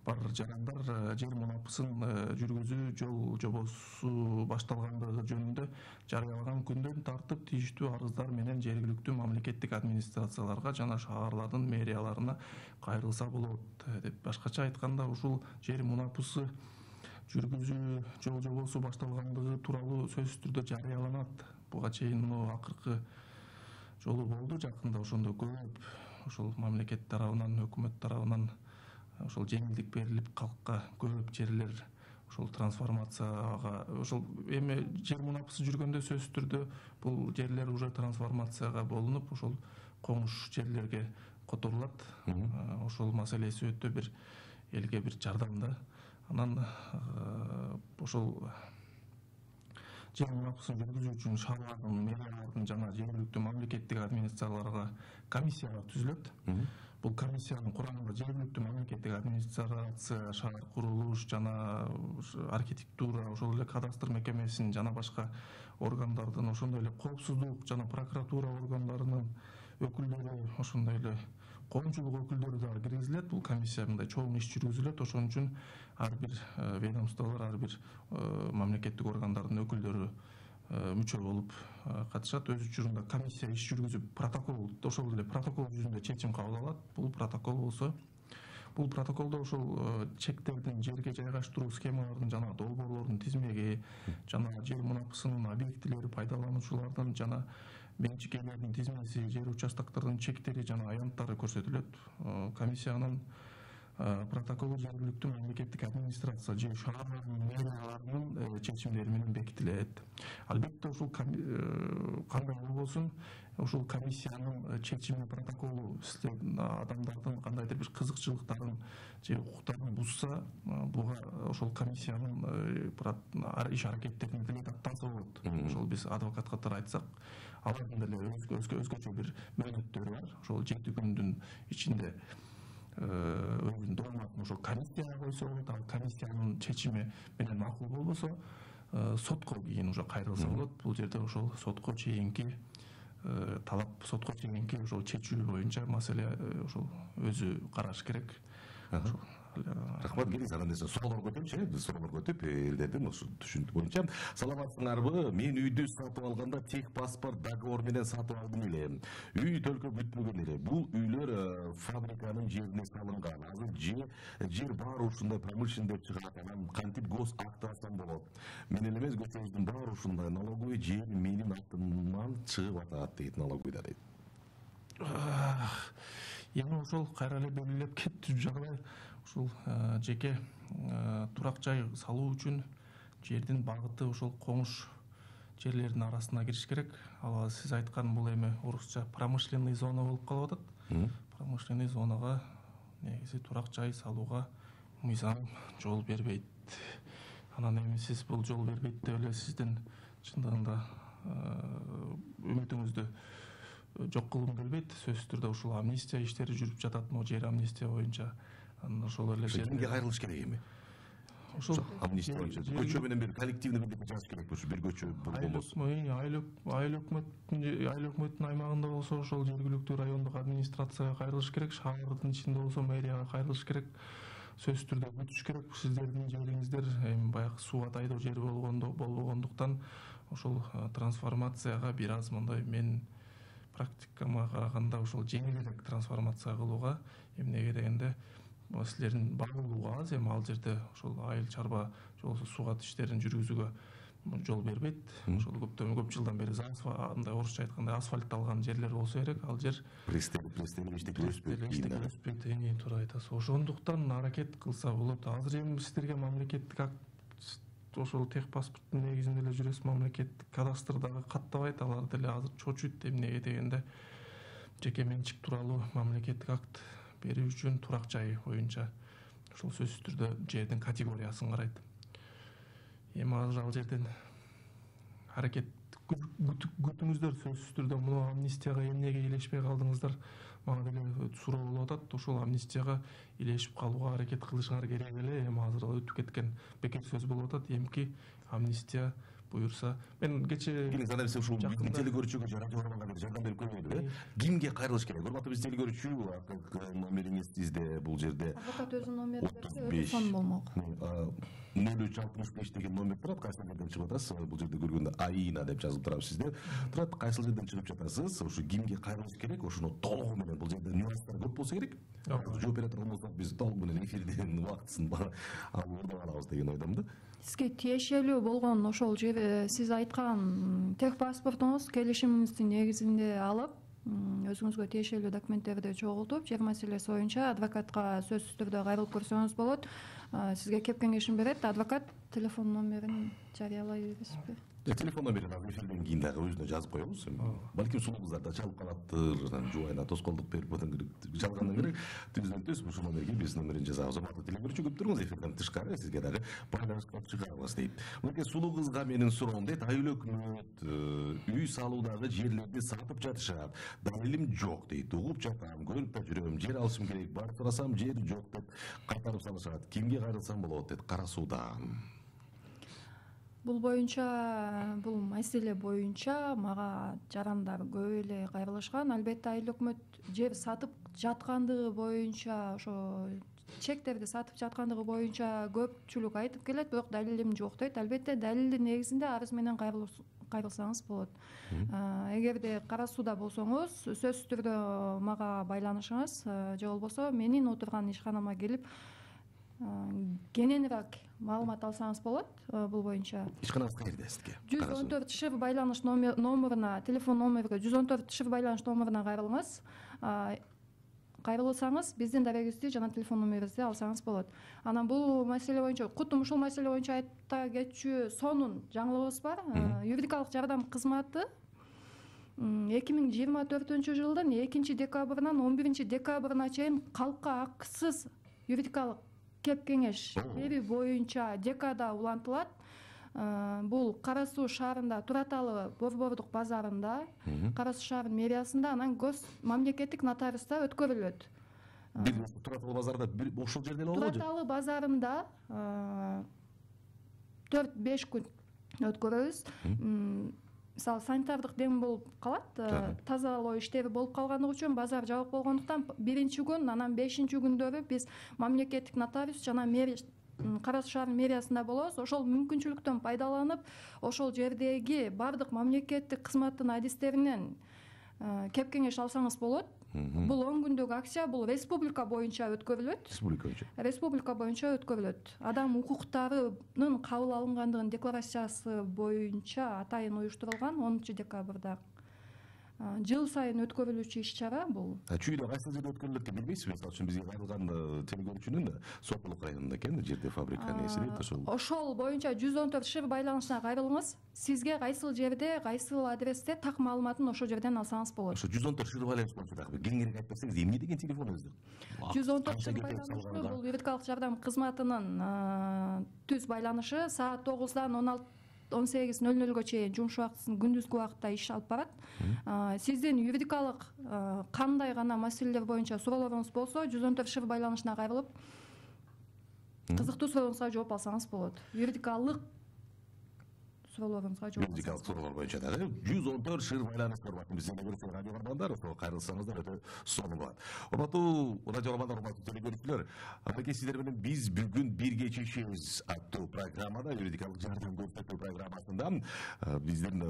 бар жарандар жер мунапысын жүргүзүү жол жобосу башталгандыгы жөнүндө жарыялаган күндөн тартып тийиштүү арыздар менен жергиликтүү мамлекеттик администрацияларга жана шаарлардын мэрияларына кайрылса болот деп. Башкача айтканда, ушул жер мунапысы жүргүзүү жол жобосу башталгандыгы тууралуу сөзсүз түрдө жарыяланат. Буга чейин акыркы жолу болду жакында, ошондо көп ошол мамлекет тарабынан, өкмөт тарабынан ошол жеңилдик берилип, калкка көп жерлер ошол трансформацияга, ошол эми жер мунапысы жүргөндө сөзсүз түрдө бул жерлер уже трансформацияга болунуп, ошол коңуш жерлерге которулат. Ошол маселеси өтө бир элге бир жардам да. Анан ошол жер мунапысын жүргүзүү үчүн шаарлардын, мэриялардын жана жергиликтүү мамлекеттик администрацияларга комиссиялар түзүлөт. Бул комиссиянын курамында жергиликтүү мамлекеттик администрация, шаар курулуш жана архитектура, ошол эле кадастр мекемесинин жана башка органдардын, ошондой эле коопсуздук жана прокуратура органдарынын өкүлдөрү, ошондой эле коомчулук өкүлдөрү дагы киргизилет. Бул комиссия мындай чоң иш жүргүзүлөт. Ошон үчүн ар бир ведомстволор, ар бир мамлекеттик органдардын өкүлдөрү мүчө болуп катышат. Өз учурунда комиссия иш жүргүзүп, протокол, ошол эле протокол жүзүндө чечим кабыл алат. Бул протокол болсо, бул протоколдо ошол чектердин, жерге жайгаштыруу схемаларынын жана долбоорлордун тизмеги жана жер мунапысынын объектилери, пайдалануучулардын жана менчикелердин тизмеси, жер участоктордун чектери жана аянттары көрсөтүлөт. Комиссиянын протоколу жергиликтүү мамлекеттик администрация же шаарлардын мэрияларынын чечимдери менен бекитилет. Албетте ушул кандай болбосун, ушул комиссиянын чечими, протоколу силердин адамдардын кандайдыр бир кызыкчылыктарын же укуктарын бузса, буга ошол комиссиянын иш аракеттерин деле даттанса болот. Ошол биз адвокат катары айтсак, алардын деле өзгөчө бир мөөнөттөрү бар. Ошол 7 күндүн ичинде өзүнүн дооматын ошол комиссияга койсо болот. Ал комиссиянын чечими менен макул болбосо, сотко кийин уже кайрылса болот. Бул жерде ошол сотко чейинки талап, сотко чейинки ошол чечүү боюнча маселе ошол өзү караш керек. Рахмат, келиңиз анан десе суроолор көтөрчү, биз суроолор көтүп элдердин ошо түшүнүк боюнча. Саламатсыңарбы? Мен үйдү сатып алганда тех паспорт договор менен сатып алдым эле. Үй төлкө бүтпөгөн эле. Бул үйлөр фабриканын жерине салынган. Азыр жер баары ушундай промышленный деп чыгат. Анан кантип гос акт алсам болот? Мен эле эмес, көчөбүздүн баары ушундай. Налоговый жер менин атыман чыгып атат дейт налоговыйда дейт. Эми ошол кайра эле белгилеп кетти жагдай. Ушул жеке турак жай салуу үчүн жердин багыты ошол коңуш жерлердин арасына кириш керек. Ал сиз айткан бул эми орусча промышленный зона болуп калып атат. Промышленный зонага негизи турак жай салууга мыйзам жол бербейт. Анан эми сиз бул жол бербейт деп эле сиздин чындыгында үмүтүңүздү жок кылгым келбейт. Сөзсүз түрдө ушул амнистия иштери жүрүп жатат, могу жер амнистия боюнча. Ошол эле кимге кайрылыш керек эми? Ошол амнистия боюнча көчө менен бир коллективный бирдеке жазыш керек болчу, бир көчө болбосо. Айыл өкмөттүн аймагында болсо ошол жергиликтүү райондук администрацияга кайрылыш керек, шаардын ичинде болсо мэрияга кайрылыш керек. Сөзсүз түрдө бүтүш керек. Сиздердин жериңиздер эми баягы суу атайдуу жер болбогондуктан ошол трансформацияга бир аз мындай мен практикама караганда ошол жеңилирээк трансформация кылууга, эмнеге дегенде силердин багылууга аз, эми ал жерде ошол айыл чарба же болбосо суугат иштерин жүргүзүүгө жол бербейт. Ошол көп жылдан бери андай орусча айтканда асфальтталган жерлер болсо керек. Ал жер пристель өспөйт. Эми туура айтасыз. Ошондуктан аракет кылса болот. Азыр эми сиздерге мамлекеттик акт ошол тех паспорттун негизинде эле жүрөсүз, мамлекеттик кадастр дагы каттабайт. Алар деле азыр чочуйт. Эмнеге дегенде жеке менчик тууралуу мамлекеттик акт берүү үчүн турак жай боюнча ошол сөзсүз түрдө жердин категориясын карайт. Эми азыр ал жерден аракет күтүңүздөр. Сөзсүз түрдө муну амнистияга эмнеге илешпей калдыңыздар? Мага деле суроо болуп атат. Ошол амнистияга илешип калууга аракет кылышыңар керек эле. Эми азыр өтүп кеткен бекер сөз болуп атат. Эмки амнистия буюрса, мен кечээ ушул телекөрүүчүгө радио барганда бир жардам берип көрмөйдүбү? Кимге кайрылыш керек? Урматтуу биз телекөрүүчү, номериңиз сизде бул жерде. Адвокат өзүнүн номери телефон болмок. 0365 деген номер турат. Кайсыл жерден чыгып атасыз? Бул жерде көргөндө Аина деп жазылып турат сизде. Турат, кайсыл жерден чыгып жатасыз? Ушу кимге кайрылыш керек? Ошону толугу менен, бул жерде нюанстар көп болсо керек. Жооп бере турган болсок, биз толугу менен эфирдин убактысын алып алабыз деген ойдомун да. Сизге тиешелүү болгон ошол жер сиз айткан тех паспортуңуз келишимиңиздин негизинде алып, өзүңүзгө тиешелүү документтерди чогултуп, жер маселеси боюнча адвокатка сөзсүз түрдө кайрылып көрсөңүз болот. Сизге кеп кеңешин берет. Адвокат телефон номерин жарыялай бересизби? Телефон номерин эфирден кийин дагы өзүнө жазып коебуз. Балким сулуу кыздар да чалып калаттыр, жубайына тоскоолдук берип жалгандан керек. Түздөн түз ушул номерге биз номерин жазабыз. Урматтуу телекөрүүчү, көп туруңуз, эфирден тышкары сизге дагы байланышка чыгарабыз дейт. Мынакей сулуу кызга менин суроом дейт. Айыл өкмөт үй салуудагы жерлерди сатып жатышат. Далилим жок дейт. Угуп жатам, көрүп да жүрөм. Жер алышым керек, барып сурасам жер жок деп кайтарып салышат. Кимге кайрылсам болот дейт Кара Суудан. Бул боюнча, бул маселе боюнча мага жарандар көп эле кайрылышкан. Албетте айыл өкмөт жер сатып жаткандыгы боюнча, ошо чектерди сатып жаткандыгы боюнча көпчүлүк айтып келет, бирок далилим жок дейт. Албетте далилдин негизинде арыз менен кайрылсаңыз болот. Эгерде Кара Сууда болсоңуз, сөзсүз түрдө мага байланышыңыз же болбосо менин отурган ишканама келип кененирээк маалымат алсаңыз болот бул боюнча. Ишканаңыз каерде сизге? 114 шифр байланыш номерине, телефон номериге 114 шифр байланыш номерине кайрылыңыз. кайрылсаңыз биздин дарегибизди жана телефон номерибизди алсаңыз болот. Анан бул маселе боюнча кутум ушул маселе боюнча айта кетчү сонун жаңылыгыбыз бар. Юридикалык жардам кызматы 2024-жылдын 2-декабрынан 11-декабрына чейин калкка акысыз юридикалык кеп кеңеш берүү боюнча декада улантылат. Бул Кара Суу шаарында Тураталы Борбордук базарында, Кара Суу шаарынын мэриясында, анан гос мамлекеттик нотариуста өткөрүлөт. Тураталы базарында ошол жерде эле болобу? Тураталы базарында 4-5 күн өткөрөбүз. Мисалы санитардык дем болуп калат, тазалоо иштери болуп калгандыгы үчүн базар жабык болгондуктан 1-күн, анан 5-күндөрү биз мамлекеттик нотариус жана Кара Суу шаарынын мэриясында болобуз. Ошол мүмкүнчүлүктөн пайдаланып, ошол жердеги бардык мамлекеттик кызматтын адистеринен кеп кеңеш алсаңыз болот. Бул 10 күндүк акция, бул республика боюнча өткөрүлөт. Республика боюнча өткөрүлөт. Адам укуктарынын кабыл алынгандыгынын декларациясы боюнча атайын уюштурулган 10-декабрда. Жыл сайын өткөрүлүүчү иш-чара бул. Чүйдө кайсы жерде өткөрүлөт деп билбейсизби? Мисалы үчүн бизге кайрылган телекөрүүчүнүн Сокулук районунда экен, жерде фабрика нээси дейт ошол. Ошол боюнча 114 шыр байланышына кайрылыңыз. Сизге кайсыл жерде, кайсыл адресте так маалыматын ошол жерден алсаңыз болот. Ошо 114 шыр байланыш боюнча дагы кеңирээк айтып берсеңиз, эмне деген телефон өзү? 114 шыр байланышы бул юридикалык жардам кызматынын түз байланышы. Саат 9-дан 18:00 чейин жумуш убактысын күндүзгү убакытта иш алып барат. Сиздин юридикалык кандай гана маселелер боюнча суроолоруңуз болсо, 114 шыр байланышына кайрылып кызыктуу сурооңузга жооп алсаңыз болот. Юридикалык суроолоруңузга жооп. Юридикалык суроолор боюнча дагы 114 шыр байланыш урматтуу биздин көрүүчү радио бармандар, ошого кайрылсаңыздар өтө сонун болот. Урматтуу радио бармандар, урматтуу телекөрүүчүлөр, мынакей сиздер менен биз бүгүн бирге чечебиз аттуу программада, юридикалык жардам көрсөтүү программасында биздин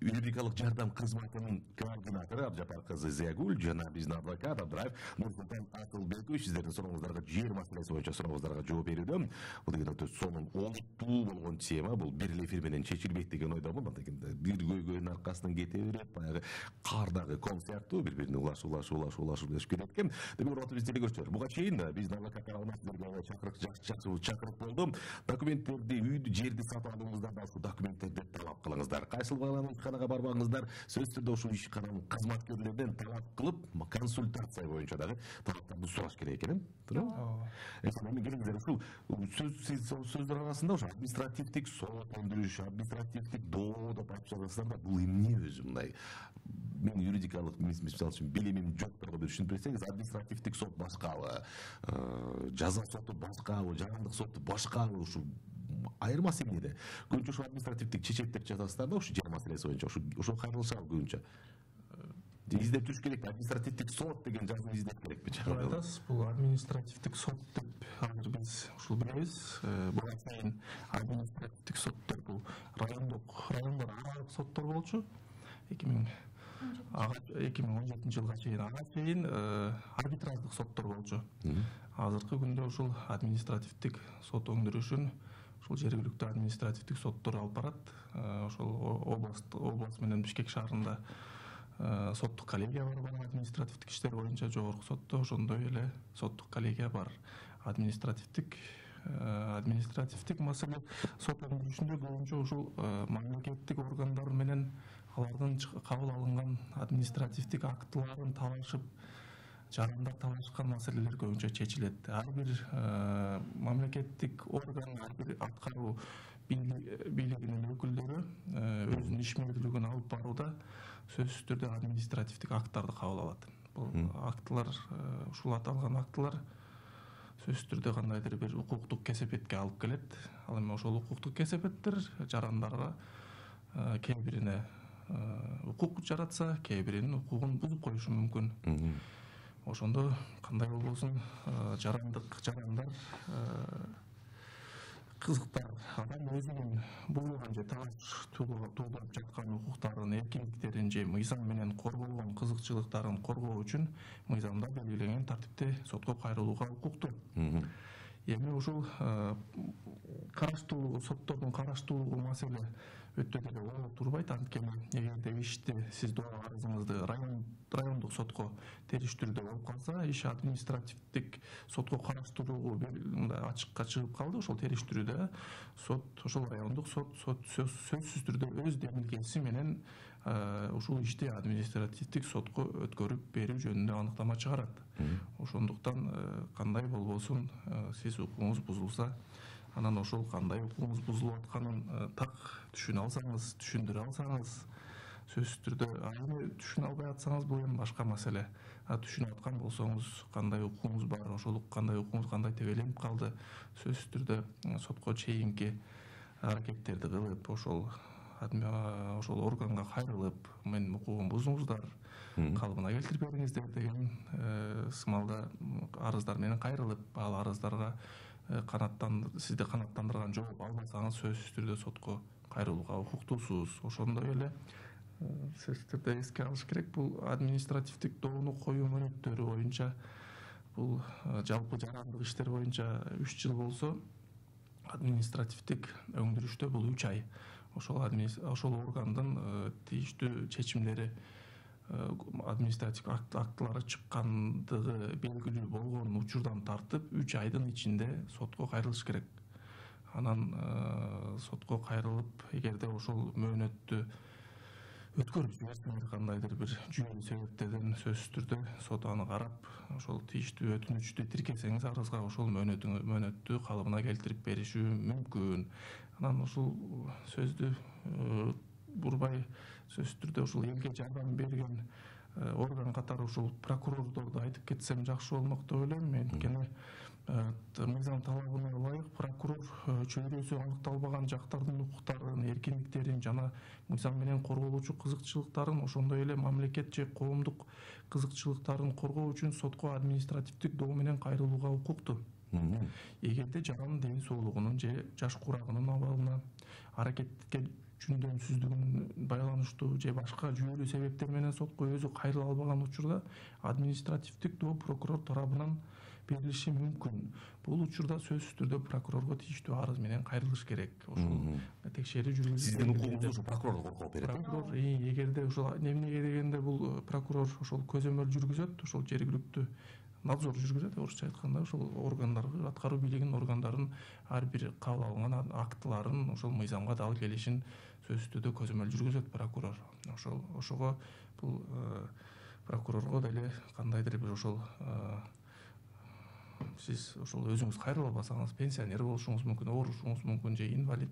юридикалык жардам кызматынын координатору Абжапар кызы Зиягүл жана биздин адвокат Абдыраев Нурсултан Акылбекович сиздердин сурооңуздарга жер маселеси боюнча сурооңуздарга жооп берүүдө. Бул деген өтө сонун, олуттуу болгон тема. Бул бир эле эфир менен чечилбейт деген ойдомун. Антекенде бир көйгөйдүн аркасынан кете берет, баягы кардагы ком сыяктуу бири-бирине улашып өсүп кетет экен. Демек, урматтуу биздин телекөрүүчүлөр, буга чейин биздин адвокаттар сиздерге чакырык болду. Документтерди, үйдү, жерди сатып алууңуздарда ушул документтерди талап кылыңыздар. Кайсыл барбаңыздар, сөзсүз түрдө ушул ишкананын кызматкерлеринен талап кылып, консультация боюнча дагы талаптарды сураш керек экен, туура? Эми келиңиздер, ушул сөздөр арасында ошо административдик сот өндүрүш, административдик доо деп айтып жатасыздар да, бул эмне өзү мындай? Мен юридикалык мисалы үчүн билимим жокторго бир түшүнүп берсеңиз, административдик сот башкабы, жаза соту башкабы, жарандык соту башкабы, ушул айырмасы эмнеде? Көбүнчө ушул административдик чечеттер жазасыздар да, ушул жер маселеси боюнча, ушул кайрылышабы көбүнчө. Издеп жүрүш керек, административдик сот деген жазууну издеп керекпи? Айтасыз, бул административдик сот деп азыр биз ушул билебиз. Буга чейин административдик соттор бул райондор аралык соттор болчу. 2017 жылга чейин ага чейин арбитраждык соттор болчу. Азыркы күндө ушул административдик сот өндүрүшүн ушул жергиликтүү административдик соттор алып барат. Ошол область менен Бишкек шаарында соттук коллегия бар, административдик иштер боюнча жогорку сотто, ошондой эле соттук коллегия бар. Административдик маселе сот өндүрүшүндө көбүнчө ушул мамлекеттик органдар менен алардын кабыл алынган административдик актыларын талашып, жарандар талашкан маселелер көбүнчө чечилет. Ар бир мамлекеттик орган, ар бир аткаруу бийлигинин өкүлдөрү өзүнүн ишмердүүлүгүн алып барууда сөзсүз түрдө административдик акттарды кабыл алат. Бул актылар, ушул аталган актылар сөзсүз түрдө кандайдыр бир укуктук кесепетке алып келет. Ал эми ошол укуктук кесепеттер жарандарга кээ бирине укук жаратса, кээ биринин укугун бузуп коюшу мүмкүн. Ошондо кандай болбосун жарандар кызыктар адам өзүнүн буйруган же талаш туулап жаткан укуктарын, эркиндиктерин же мыйзам менен корголгон кызыкчылыктарын коргоо үчүн мыйзамда белгиленген тартипте сотко кайрылууга укуктуу. Эми ушул караштуулугу, соттордун караштуулугу маселе өтө деле оор турбайт. Анткени эгерде ишти сиз доо арызыңызды райондук сотко териштирүүдө болуп калса, иш административдик сотко караштыруугу ачыкка чыгып калды. Ошол териштирүүдө сот, ошол райондук сот сөзсүз түрдө өз демилгеси менен ушул ишти административдик сотко өткөрүп берүү жөнүндө аныктама чыгарат. Ошондуктан кандай болбосун, сиз укугуңуз бузулса, анан ошол кандай укугуңуз бузулуп атканын так түшүнө алсаңыз, түшүндүрө алсаңыз, сөзсүз түрдө эми түшүнө албай атсаңыз бул эми башка маселе. Түшүнүп аткан болсоңуз, кандай укугуңуз бар, ошол кандай укугуңуз кандай тебеленип калды, сөзсүз түрдө сотко чейинки аракеттерди кылып, ошол органга кайрылып, менин укугум буздуңуздар, калыбына келтирип бериңиздер деген сымалда арыздар менен кайрылып, ал арыздарга сизди канааттандырган жооп албасаңыз, сөзсүз түрдө сотко кайрылууга укуктуусуз. Ошондой эле сөзсүз түрдө эске алыш керек, бул административдик доону коюу мөөнөттөрү боюнча, бул жалпы жарандык иштер боюнча 3 жыл болсо, административдик өңдүрүштө бул 3 ай. Ошол органдын тийиштүү чечимдери, административдик актылары чыккандыгы белгилүү болгон учурдан тартып 3 айдын ичинде сотко кайрылыш керек. Анан сотко кайрылып, эгерде ошол мөөнөттү өткөрүп жиберсеңер, кандайдыр бир жүйөлүү себептерден, сөзсүз түрдө сот аны карап, ошол тийиштүү өтүнүчтү тиркесеңиз арызга, ошол мөөнөттү калыбына келтирип бериши мүмкүн. Анан ушул сөздү бурбай, сөзсүз түрдө ушул элге жардам берген орган катары ушул прокурордорду айтып кетсем жакшы болмок деп ойлойм. Анткени мыйзам талабына ылайык прокурор чөйрөсү аныкталбаган жактардын укуктарын, эркиндиктерин жана мыйзам менен корголуучу кызыкчылыктарын, ошондой эле мамлекет же коомдук кызыкчылыктарын коргоо үчүн сотко административдик доо менен кайрылууга укуктуу. Эгерде жарандын ден соолугунун же жаш курагынын абалына, аракетке жөндөмсүздүгүнүн байланыштуу же башка жүйөлүү себептер менен сотко өзү кайрыла албаган учурда административдик доо прокурор тарабынан берилиши мүмкүн. Бул учурда сөзсүз түрдө прокурорго тийиштүү арыз менен кайрылыш керек. Ошол текшерүү жүргүзүп, сиздин укугуңузду ошо прокурор коргоп берет. Прокурор эгерде ошол эмнеге дегенде бул прокурор ошол көзөмөл жүргүзөт, ошол жергиликтүү надзор жүргүзөт, орусча айтканда, ошол органдарга, аткаруу бийлигинин органдарын ар бир кабыл алган актыларын ошол мыйзамга дал келишин сөзсүз түрдө көзөмөл жүргүзөт прокурор. Ошого бул прокурорго деле кандайдыр бир ошол сиз ошол өзүңүз кайрыла албасаңыз, пенсионер болушуңуз мүмкүн, оорушуңуз мүмкүн, же инвалид,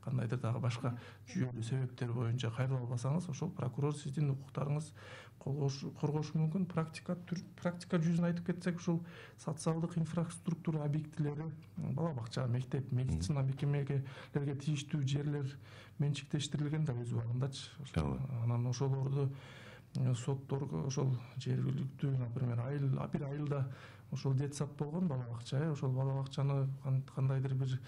кандайдыр дагы башка жүйөлүү себептер боюнча кайрыла албасаңыз, ошол прокурор сиздин укуктарыңыз коргошу мүмкүн. Практика жүзүн айтып кетсек, ушул социалдык инфраструктура объектилери, бала бакча, мектеп, медицина мекемелерге тийиштүү жерлер менчиктештирилген да өз убагындачы. Анан ошолорду сотторго ошол жергиликтүү, например, бир айылда ошол детсад болгон бала бакча, ошол бала бакчаны кандайдыр бир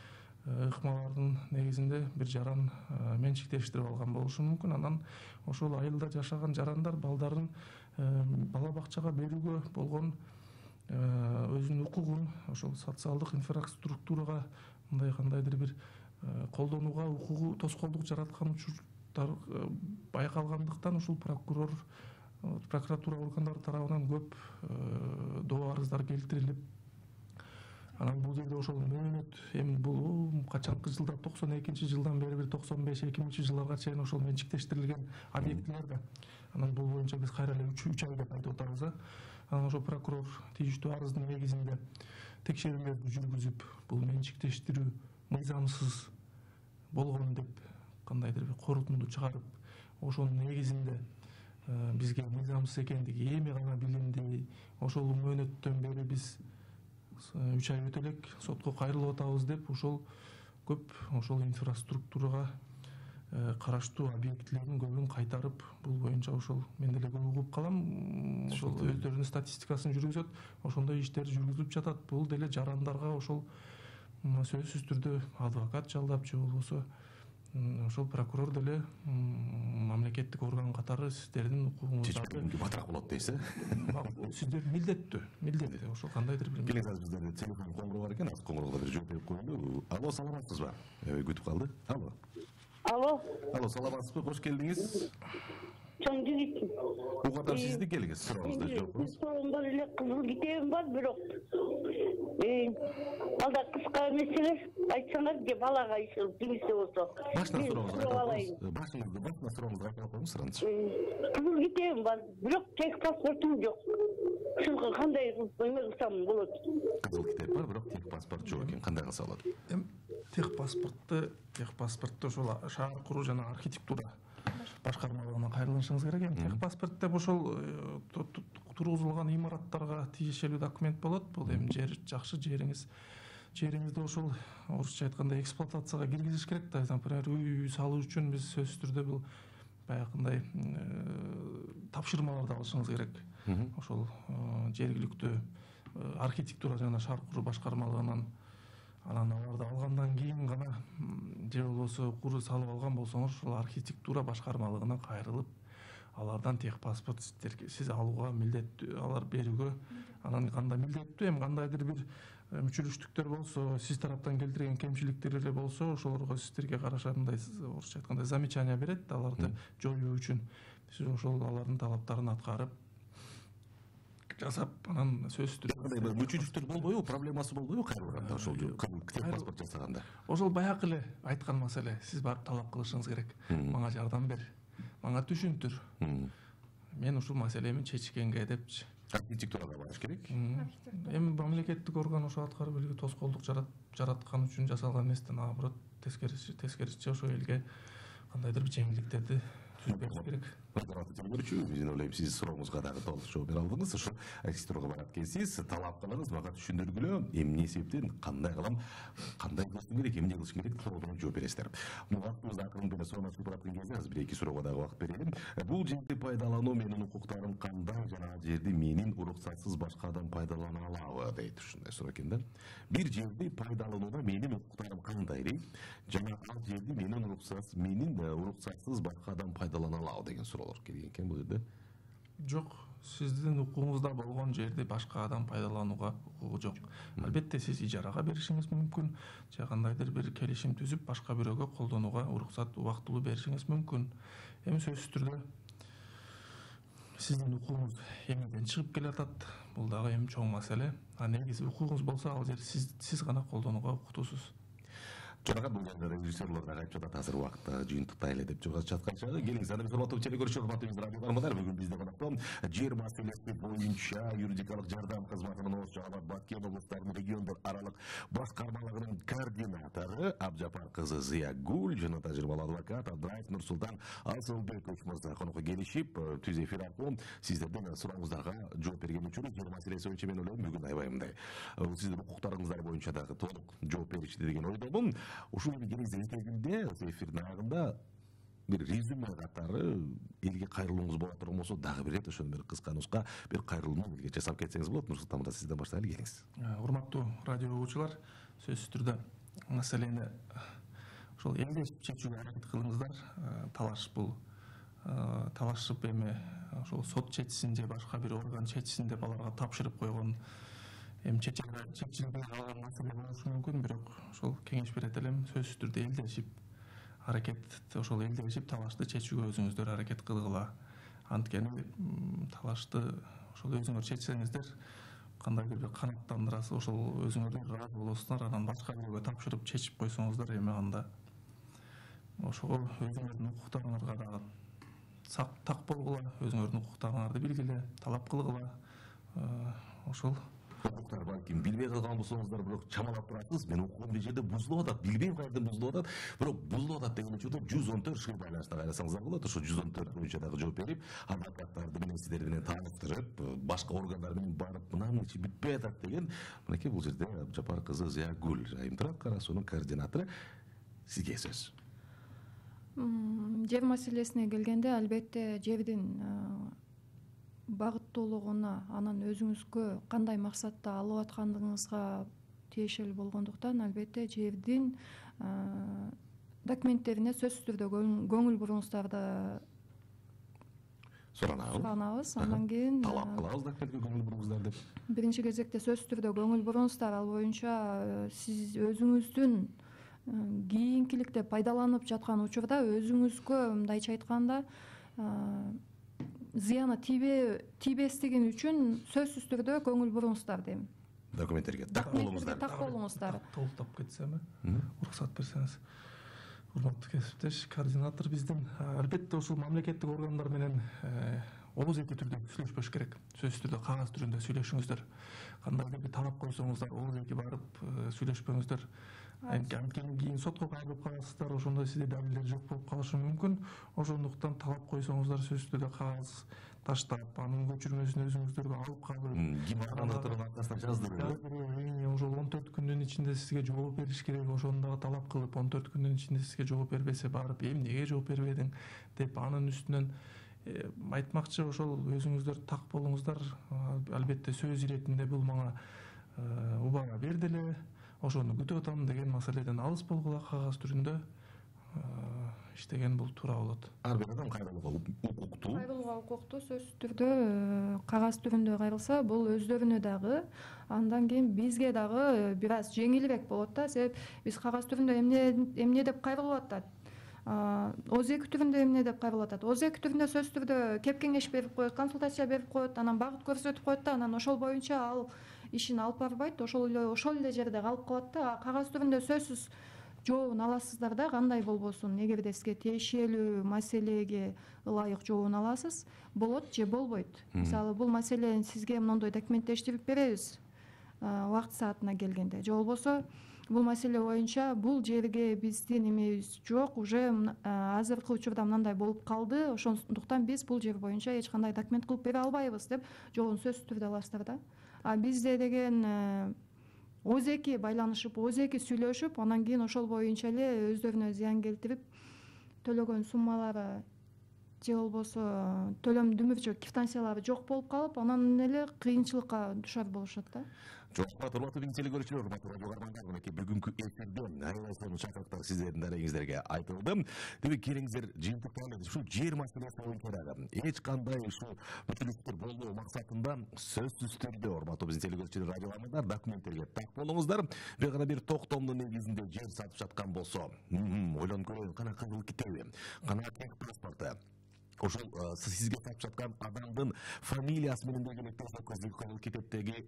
ыкмалардын негизинде бир жаран менчиктештирип алган болушу мүмкүн. Анан ошол айылда жашаган жарандар балдарын бала бакчага берүүгө болгон өзүнүн укугун ошол социалдык инфраструктурага мындай кандайдыр бир колдонууга укугу тоскоолдук жараткан учурлар байкалгандыктан ушул прокуратура органдары тарабынан көп доо арыздар келтирилип, анан бул жерде ошол мөөнөт, эми бул качанкы жылда 92-жылдан бери бир 95-2000-жылдарга чейин ошол менчиктештирилген объектилер да. Анан бул боюнча биз кайра эле 3 ай деп айтып атабыз. Анан ошол прокурор тийиштүү арыздын негизинде текшерүүлөрдү жүргүзүп, бул менчиктештирүү мыйзамсыз болгон деп кандайдыр бир корутунду чыгарып, ошонун негизинде бизге мыйзамсыз экендиги эми гана билинди, ошол мөөнөттөн бери биз 3 ай өтө элек сотко кайрылып атабыз деп, ошол көп ошол инфраструктурага караштуу объектилердин көбүн кайтарып, бул боюнча ошол мен деле көп угуп калам, ошол өздөрүнүн статистикасын жүргүзөт, ошондой иштер жүргүзүлүп жатат. Бул деле жарандарга ошол сөзсүз түрдө адвокат жалдап же болбосо ошол прокурор деле мамлекеттик орган катары сиздердин укугуңуздарды батыраак болот дейсиз. Сиздер милдеттүү ошол кандайдыр бир келиңиз, азыр биздерде телефон коңгуроо бар экен, азыр коңгуроого бир жооп берип коелу. Алло, саламатсызбы? Күтүп калды. Алло, саламатсызбы? Кош келдиңиз. Чоң жигит. Угатам сизди, келиңиз, сурооңузду жооп. Суроомдор эле кызыл китебим бар, бирок алда кыска эмес эле айтсаңар же балага кимисе болсо. Башына сурооңузду айтып коюңуз, суроңуз. Кызыл китебим бар, бирок тек паспортум жок. Ушуга кандай эме кылсам болот? Кызыл китеп бар, бирок тек паспорт жок экен. Кандай кылса болот? Техпаспортто ошол шаар куруу жана архитектура башкармалыгына кайрылышыңыз керек. Эми техпаспорт деп ошол тургузулган имараттарга тиешелүү документ болот. Бул эми жакшы жериңизди ошол орусча айтканда эксплуатацияга киргизиш керек да. Например, үй салуу үчүн биз сөзсүз түрдө бул баягындай тапшырмаларды алышыңыз керек. Ошол жергиликтүү архитектура жана шаар куруу башкармалыгынан анан аларды алгандан кийин гана же болбосо куруу салып алган болсоңуз ошол архитектура башкармалыгына кайрылып алардан техпаспорт сиз алууга милдеттүү, алар берүүгө. Анан кандай милдеттүү, эми кандайдыр бир мүчүлүштүктөр болсо, сиз тараптан келтирген кемчиликтер эле болсо, ошолорго сиздерге караша мындай орусча айтканда замечание берет, аларды жоюу үчүн. Сиз ошол алардын талаптарын аткарып жасап, анан сөзсүз түрдө мүчүлүктөр болбойбу, проблемасы болбойбу кайрылганда ошол техпаспорт жасаганда? Ошол баягы эле айткан маселе. Сиз барып талап кылышыңыз керек. Мага жардам бер, мага түшүндүр. Мен ушул маселени чечкенге депчи. Архитектурага барыш керек. Эми мамлекеттик орган ошо аткарып элге тоскоолдук жараткан үчүн жасалган эместен, наоборот, тескерисинче ошо элге кандайдыр бир жеңилдиктерди түзүп бериш керек. Мен ойлойм, сиз сурооңузга дагы толук жооп бере алдыңыз. Ошо архитектурага барат экенсиз, талап кылыңыз, мага түшүндүргүлө, эмне себептен, кандай кылам, кандай кылышым керек, эмне кылышым керек, толугу жооп бересиздер. Убактыбыз акырын эле соромачылык бараткан кезде азыр бир эки суроого дагы убакыт берелим. Бул жерди пайдалануу менин укуктарым кандай жана ал жерди менин уруксатсыз башка адам пайдалана алабы дейт. Ушундай суроо экен да. Бир жерди пайдаланууда менин укуктарым кандай дейт, жана ал жерди менин уруксатсыз башка адам пайдалана алабы деген суроолор келген экен бул жерде. Жок, сиздин укугуңузда болгон жерди башка адам пайдаланууга укугу жок. Албетте сиз ижарага беришиңиз мүмкүн, же кандайдыр бир келишим түзүп башка бирөөгө колдонууга уруксат убактылуу беришиңиз мүмкүн. Эми сөзсүз түрдө сиздин укугуңуз эмнеден чыгып келатат, бул дагы эми чоң маселе. Негизи укугуңуз болсо ал жерди сиз гана колдонууга укуктуусуз. Жонагат бул жерде режиссерлор дагы айтып жатат, азыр убакытта жыйынтыктайлы деп жаткан чагы. Келиңиз, аны биз урматтуу телекөрүүчү, урматтуу радио бармандар, бүгүн бизде конокто жер маселеси боюнча юридикалык жардам кызматынын Ош жана Баткен облустарынын региондор аралык башкармалыгынын координатору Абжапар кызы Зыягүл жана тажрыйбалуу адвокат Абдраев Нурсултан Асылбекович мырза конокко келишип, түз эфир аркылуу сиздердин сурооңуздарга жооп берген учуру жер маселеси боюнча мен ойлойм бүгүн аябай мындай сиздин укуктарыңыздар боюнча дагы толук жооп беришти деген ойдомун. Ушул келиңиз этегинде, эфирдин агында бир резюме катары элге кайрылууңуз боло турган болсо, дагы бир рет ошону бир кыска нуска бир кайрылууну элге жасап кетсеңиз болот. Нурсултан мырза, сизден баштайлы, келиңиз. Урматтуу радио угуучулар, сөзсүз түрдө маселени ошол элдешип чечүүгө аракет кылыңыздар. Талашып эми ошол сот чечсин же башка бир орган чечсин деп аларга тапшырып койгон эми чечилбей калган маселе болушу мүмкүн, бирок ошол кеңеш берет элем, сөзсүз түрдө элдешип талашты чечүүгө өзүңүздөр аракет кылгыла. Анткени талашты ошол өзүңөр чечсеңиздер, кандайдыр бир канааттандырасыз, ошол өзүңөрдөр ыраазы болосуңар, анан башка бирөөгө тапшырып чечип койсоңуздар, эми анда ошого өзүңөрдүн укуктарыңарга дагы так болгула, өзүңөрдүн укуктарыңарды билгиле, талап кылгыла. Ошол укуктар балким билбей калган болсоңуздар, бирок чамалап турасыз. Мен укугум бир жерде бузулуп атат, билбейм кайерден бузулуп атат, бирок бузулуп атат деген учурда 114 шыл байланышта кайрасаңыздар болот. Ошо 114 боюнча дагы жооп берип, адвокаттарды менен сиздер менен тааныштырып, башка органдар менен барып, мынанын ичи бүтпөй атат деген, мынакей бул жерде Абжапар кызы Зыягүл, Айымтырак карасуунун координатору, сизге сөз. Жер маселесине келгенде, албетте жердин багыттуулугуна, анан өзүңүзгө кандай максатта алып аткандыгыңызга тиешелүү болгондуктан, албетте жердин документтерине сөзсүз түрдө көңүл буруңуздарды суранабыз. Андан кийин талап кылабыз документке көңүл буруңуздар деп. Биринчи кезекте сөзсүз түрдө көңүл буруңуздар. Ал боюнча сиз өзүңүздүн кийинкиликте пайдаланып жаткан учурда өзүңүзгө мындайча айтканда зыяны тийбестиги үчүн сөзсүз түрдө көңүл буруңуздар дейм. Документтерге так болуңуздар. Так болуңуздар. Толуктап кетсем, уруксат берсеңиз. Урматтуу кесиптеш, координатор биздин албетте ушул мамлекеттик органдар менен ооз-эки түрдө сүйлөшпөш керек. Сөзсүз түрдө кагаз түрүндө сүйлөшүңүздөр. Кандайдыр бир талап койсоңуздар, ооз-эки барып сүйлөшпөңүздөр. Анткени кийин сотко кайрылып каласыздар, ошондо сизде далилдер жок болуп калышы мүмкүн. Ошондуктан талап койсоңуздар сөзсүз түрдө кагаз таштап, анын көчүрмөсүн өзүңүздөргө алып калып, ким аркасынан жаздырып, ошол 14 күндүн ичинде сизге жооп бериш керек. Ошону дагы талап кылып, 14 күндүн ичинде сизге жооп бербесе, барып эмнеге жооп бербедиң деп анын үстүнөн айтмакчы. Ошол өзүңүздөр так болуңуздар. Албетте сөз иретинде бул мага убага берди эле, ошону күтүп атам деген маселеден алыс болгула. Кагаз түрүндө иштеген бул туура болот. Ар бир адам кайрылууга укуктуу. Кайрылууга укуктуу сөзсүз түрдө кагаз түрүндө кайрылса, бул өздөрүнө дагы, андан кийин бизге дагы бир аз жеңилирээк болот да. Себеп биз кагаз түрүндө эмне деп кайрылып атат, ооз-эки түрүндө эмне деп кайрылып атат. Ооз-эки түрүндө сөзсүз түрдө кеп кеңеш берип коет, консультация берип коет, анан багыт көрсөтүп коет да, анан ошол боюнча ал ишин алып барбайт, ошол эле жерде калып калат да. Кагаз түрүндө сөзсүз жообун аласыздар да, кандай болбосун. Эгерде сизге тиешелүү маселеге ылайык жообун аласыз, болот же болбойт. Мисалы, бул маселени сизге мондой документтештирип беребиз убакыт саатына келгенде, же болбосо бул маселе боюнча бул жерге биздин эмебиз жок, уже азыркы учурда мындай болуп калды, ошондуктан биз бул жер боюнча эч кандай документ кылып бере албайбыз деп жообун сөзсүз түрдө аласыздар да. Бизде деген ооз-эки байланышып, ооз-эки сүйлөшүп, анан кийин ошол боюнча эле өздөрүнө зыян келтирип, төлөгөн суммалары же болбосо төлөм дүмүрчү квитанциялары жок болуп калып, анан эле кыйынчылыкка душар болушат да. Жок, урматтуу телекөрүүчүлөр, урматтуу радио угармандар, мынакей бүгүнкү эфирден аябай сонун чакырыктар сиздердин дарегиңиздерге айтылды. Демек, келиңиздер жыйынтыктап ушул жер маселеси боюнча дагы эч кандай ушул бүтүнүктөр болбоо максатында сөзсүз түрдө, урматтуу биздин телекөрүүчүлөр, радио угармандар, документтерге так болуңуздар. Бир гана бир токтомдун негизинде жер сатып жаткан болсо, ойлонуп көрөйүн, кана кызыл китеби, кана тех паспорту, ошол сизге сатып жаткан адамдын фамилиясы менен делип электрондук кызыл китептеги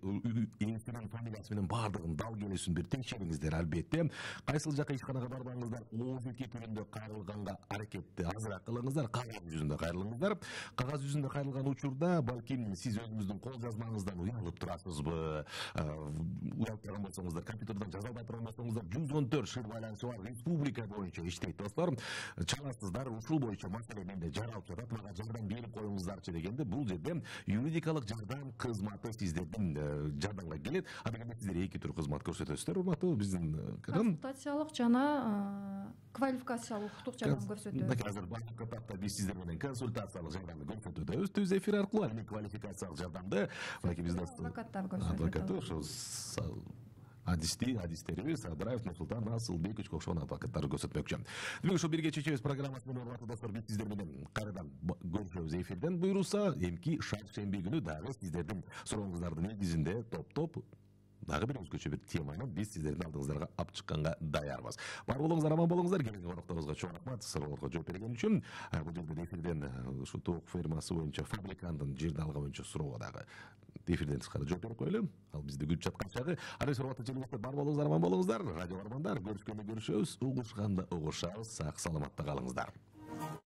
ээсинин фамилиясы менен баардыгын дал келүүсүн бир текшериңиздер. Албетте, кайсыл жака ишканага барбаңыздар, ооз-эки түрүндө кайрылганга аракетти азыраак кылыңыздар, кагаз жүзүндө кайрылыңыздар. Кагаз жүзүндө кайрылган учурда балким сиз өзүңүздүн кол жазмаңыздан уялып турасызбы, уялып турган болсоңуздар, компьютерден жаза албай турган болсоңуздар, 114 шыр байланышы бар республика боюнча иштейт достор. Чаласыздар, ушул боюнча маселе менде жаралып жатат, мага жардам берип коюңуздарчы дегенде, бул жерде юридикалык жардам кызматы сиздердин жардамга келет. Адегенде сиздер эки түр кызмат көрсөтөсүздөр, урматтуу биздин консультациялык жана квалификациялык укуктук жардам көрсөтөбүз. Азыр башкы этапта биз сиздер менен консультациялык жардамды көрсөтөбүз түз эфир аркылуу, эми квалификациялык жардамды адвокаттар көрсөтөт. Адвокаттар ошо адистерибиз Абдраев Нурсултан Асылбековичке окшогон адвокаттар көрсөтмөкчү. Демек, ушул бирге чечебиз программасы менен, урматтуу достор, биз сиздер менен кайрадан көрүшөбүз эфирден буйруса. Эмки шаршемби күнү дагы сиздердин сурооңуздардын негизинде топтоп дагы бир өзгөчө бир теманы биз сиздердин алдыңыздарга алып чыкканга даярбыз. Бар болуңуздар, аман болуңуздар. Келген конокторубузга чоң рахмат суроолорго жооп берген үчүн. Бул жерден эфирден ушу тоок фермасы боюнча фабриканттын жерди алган боюнча суроого дагы эфирден тышкары жооп берип коелу. Ал бизди күтүп жаткан чагы. Аны суроотту жөнөттү. Бар болуңуздар, аман болуңуздар. Радио угармандар, көрүшкөндө көрүшөбүз, угушканда угушабыз. Сак саламатта калыңыздар.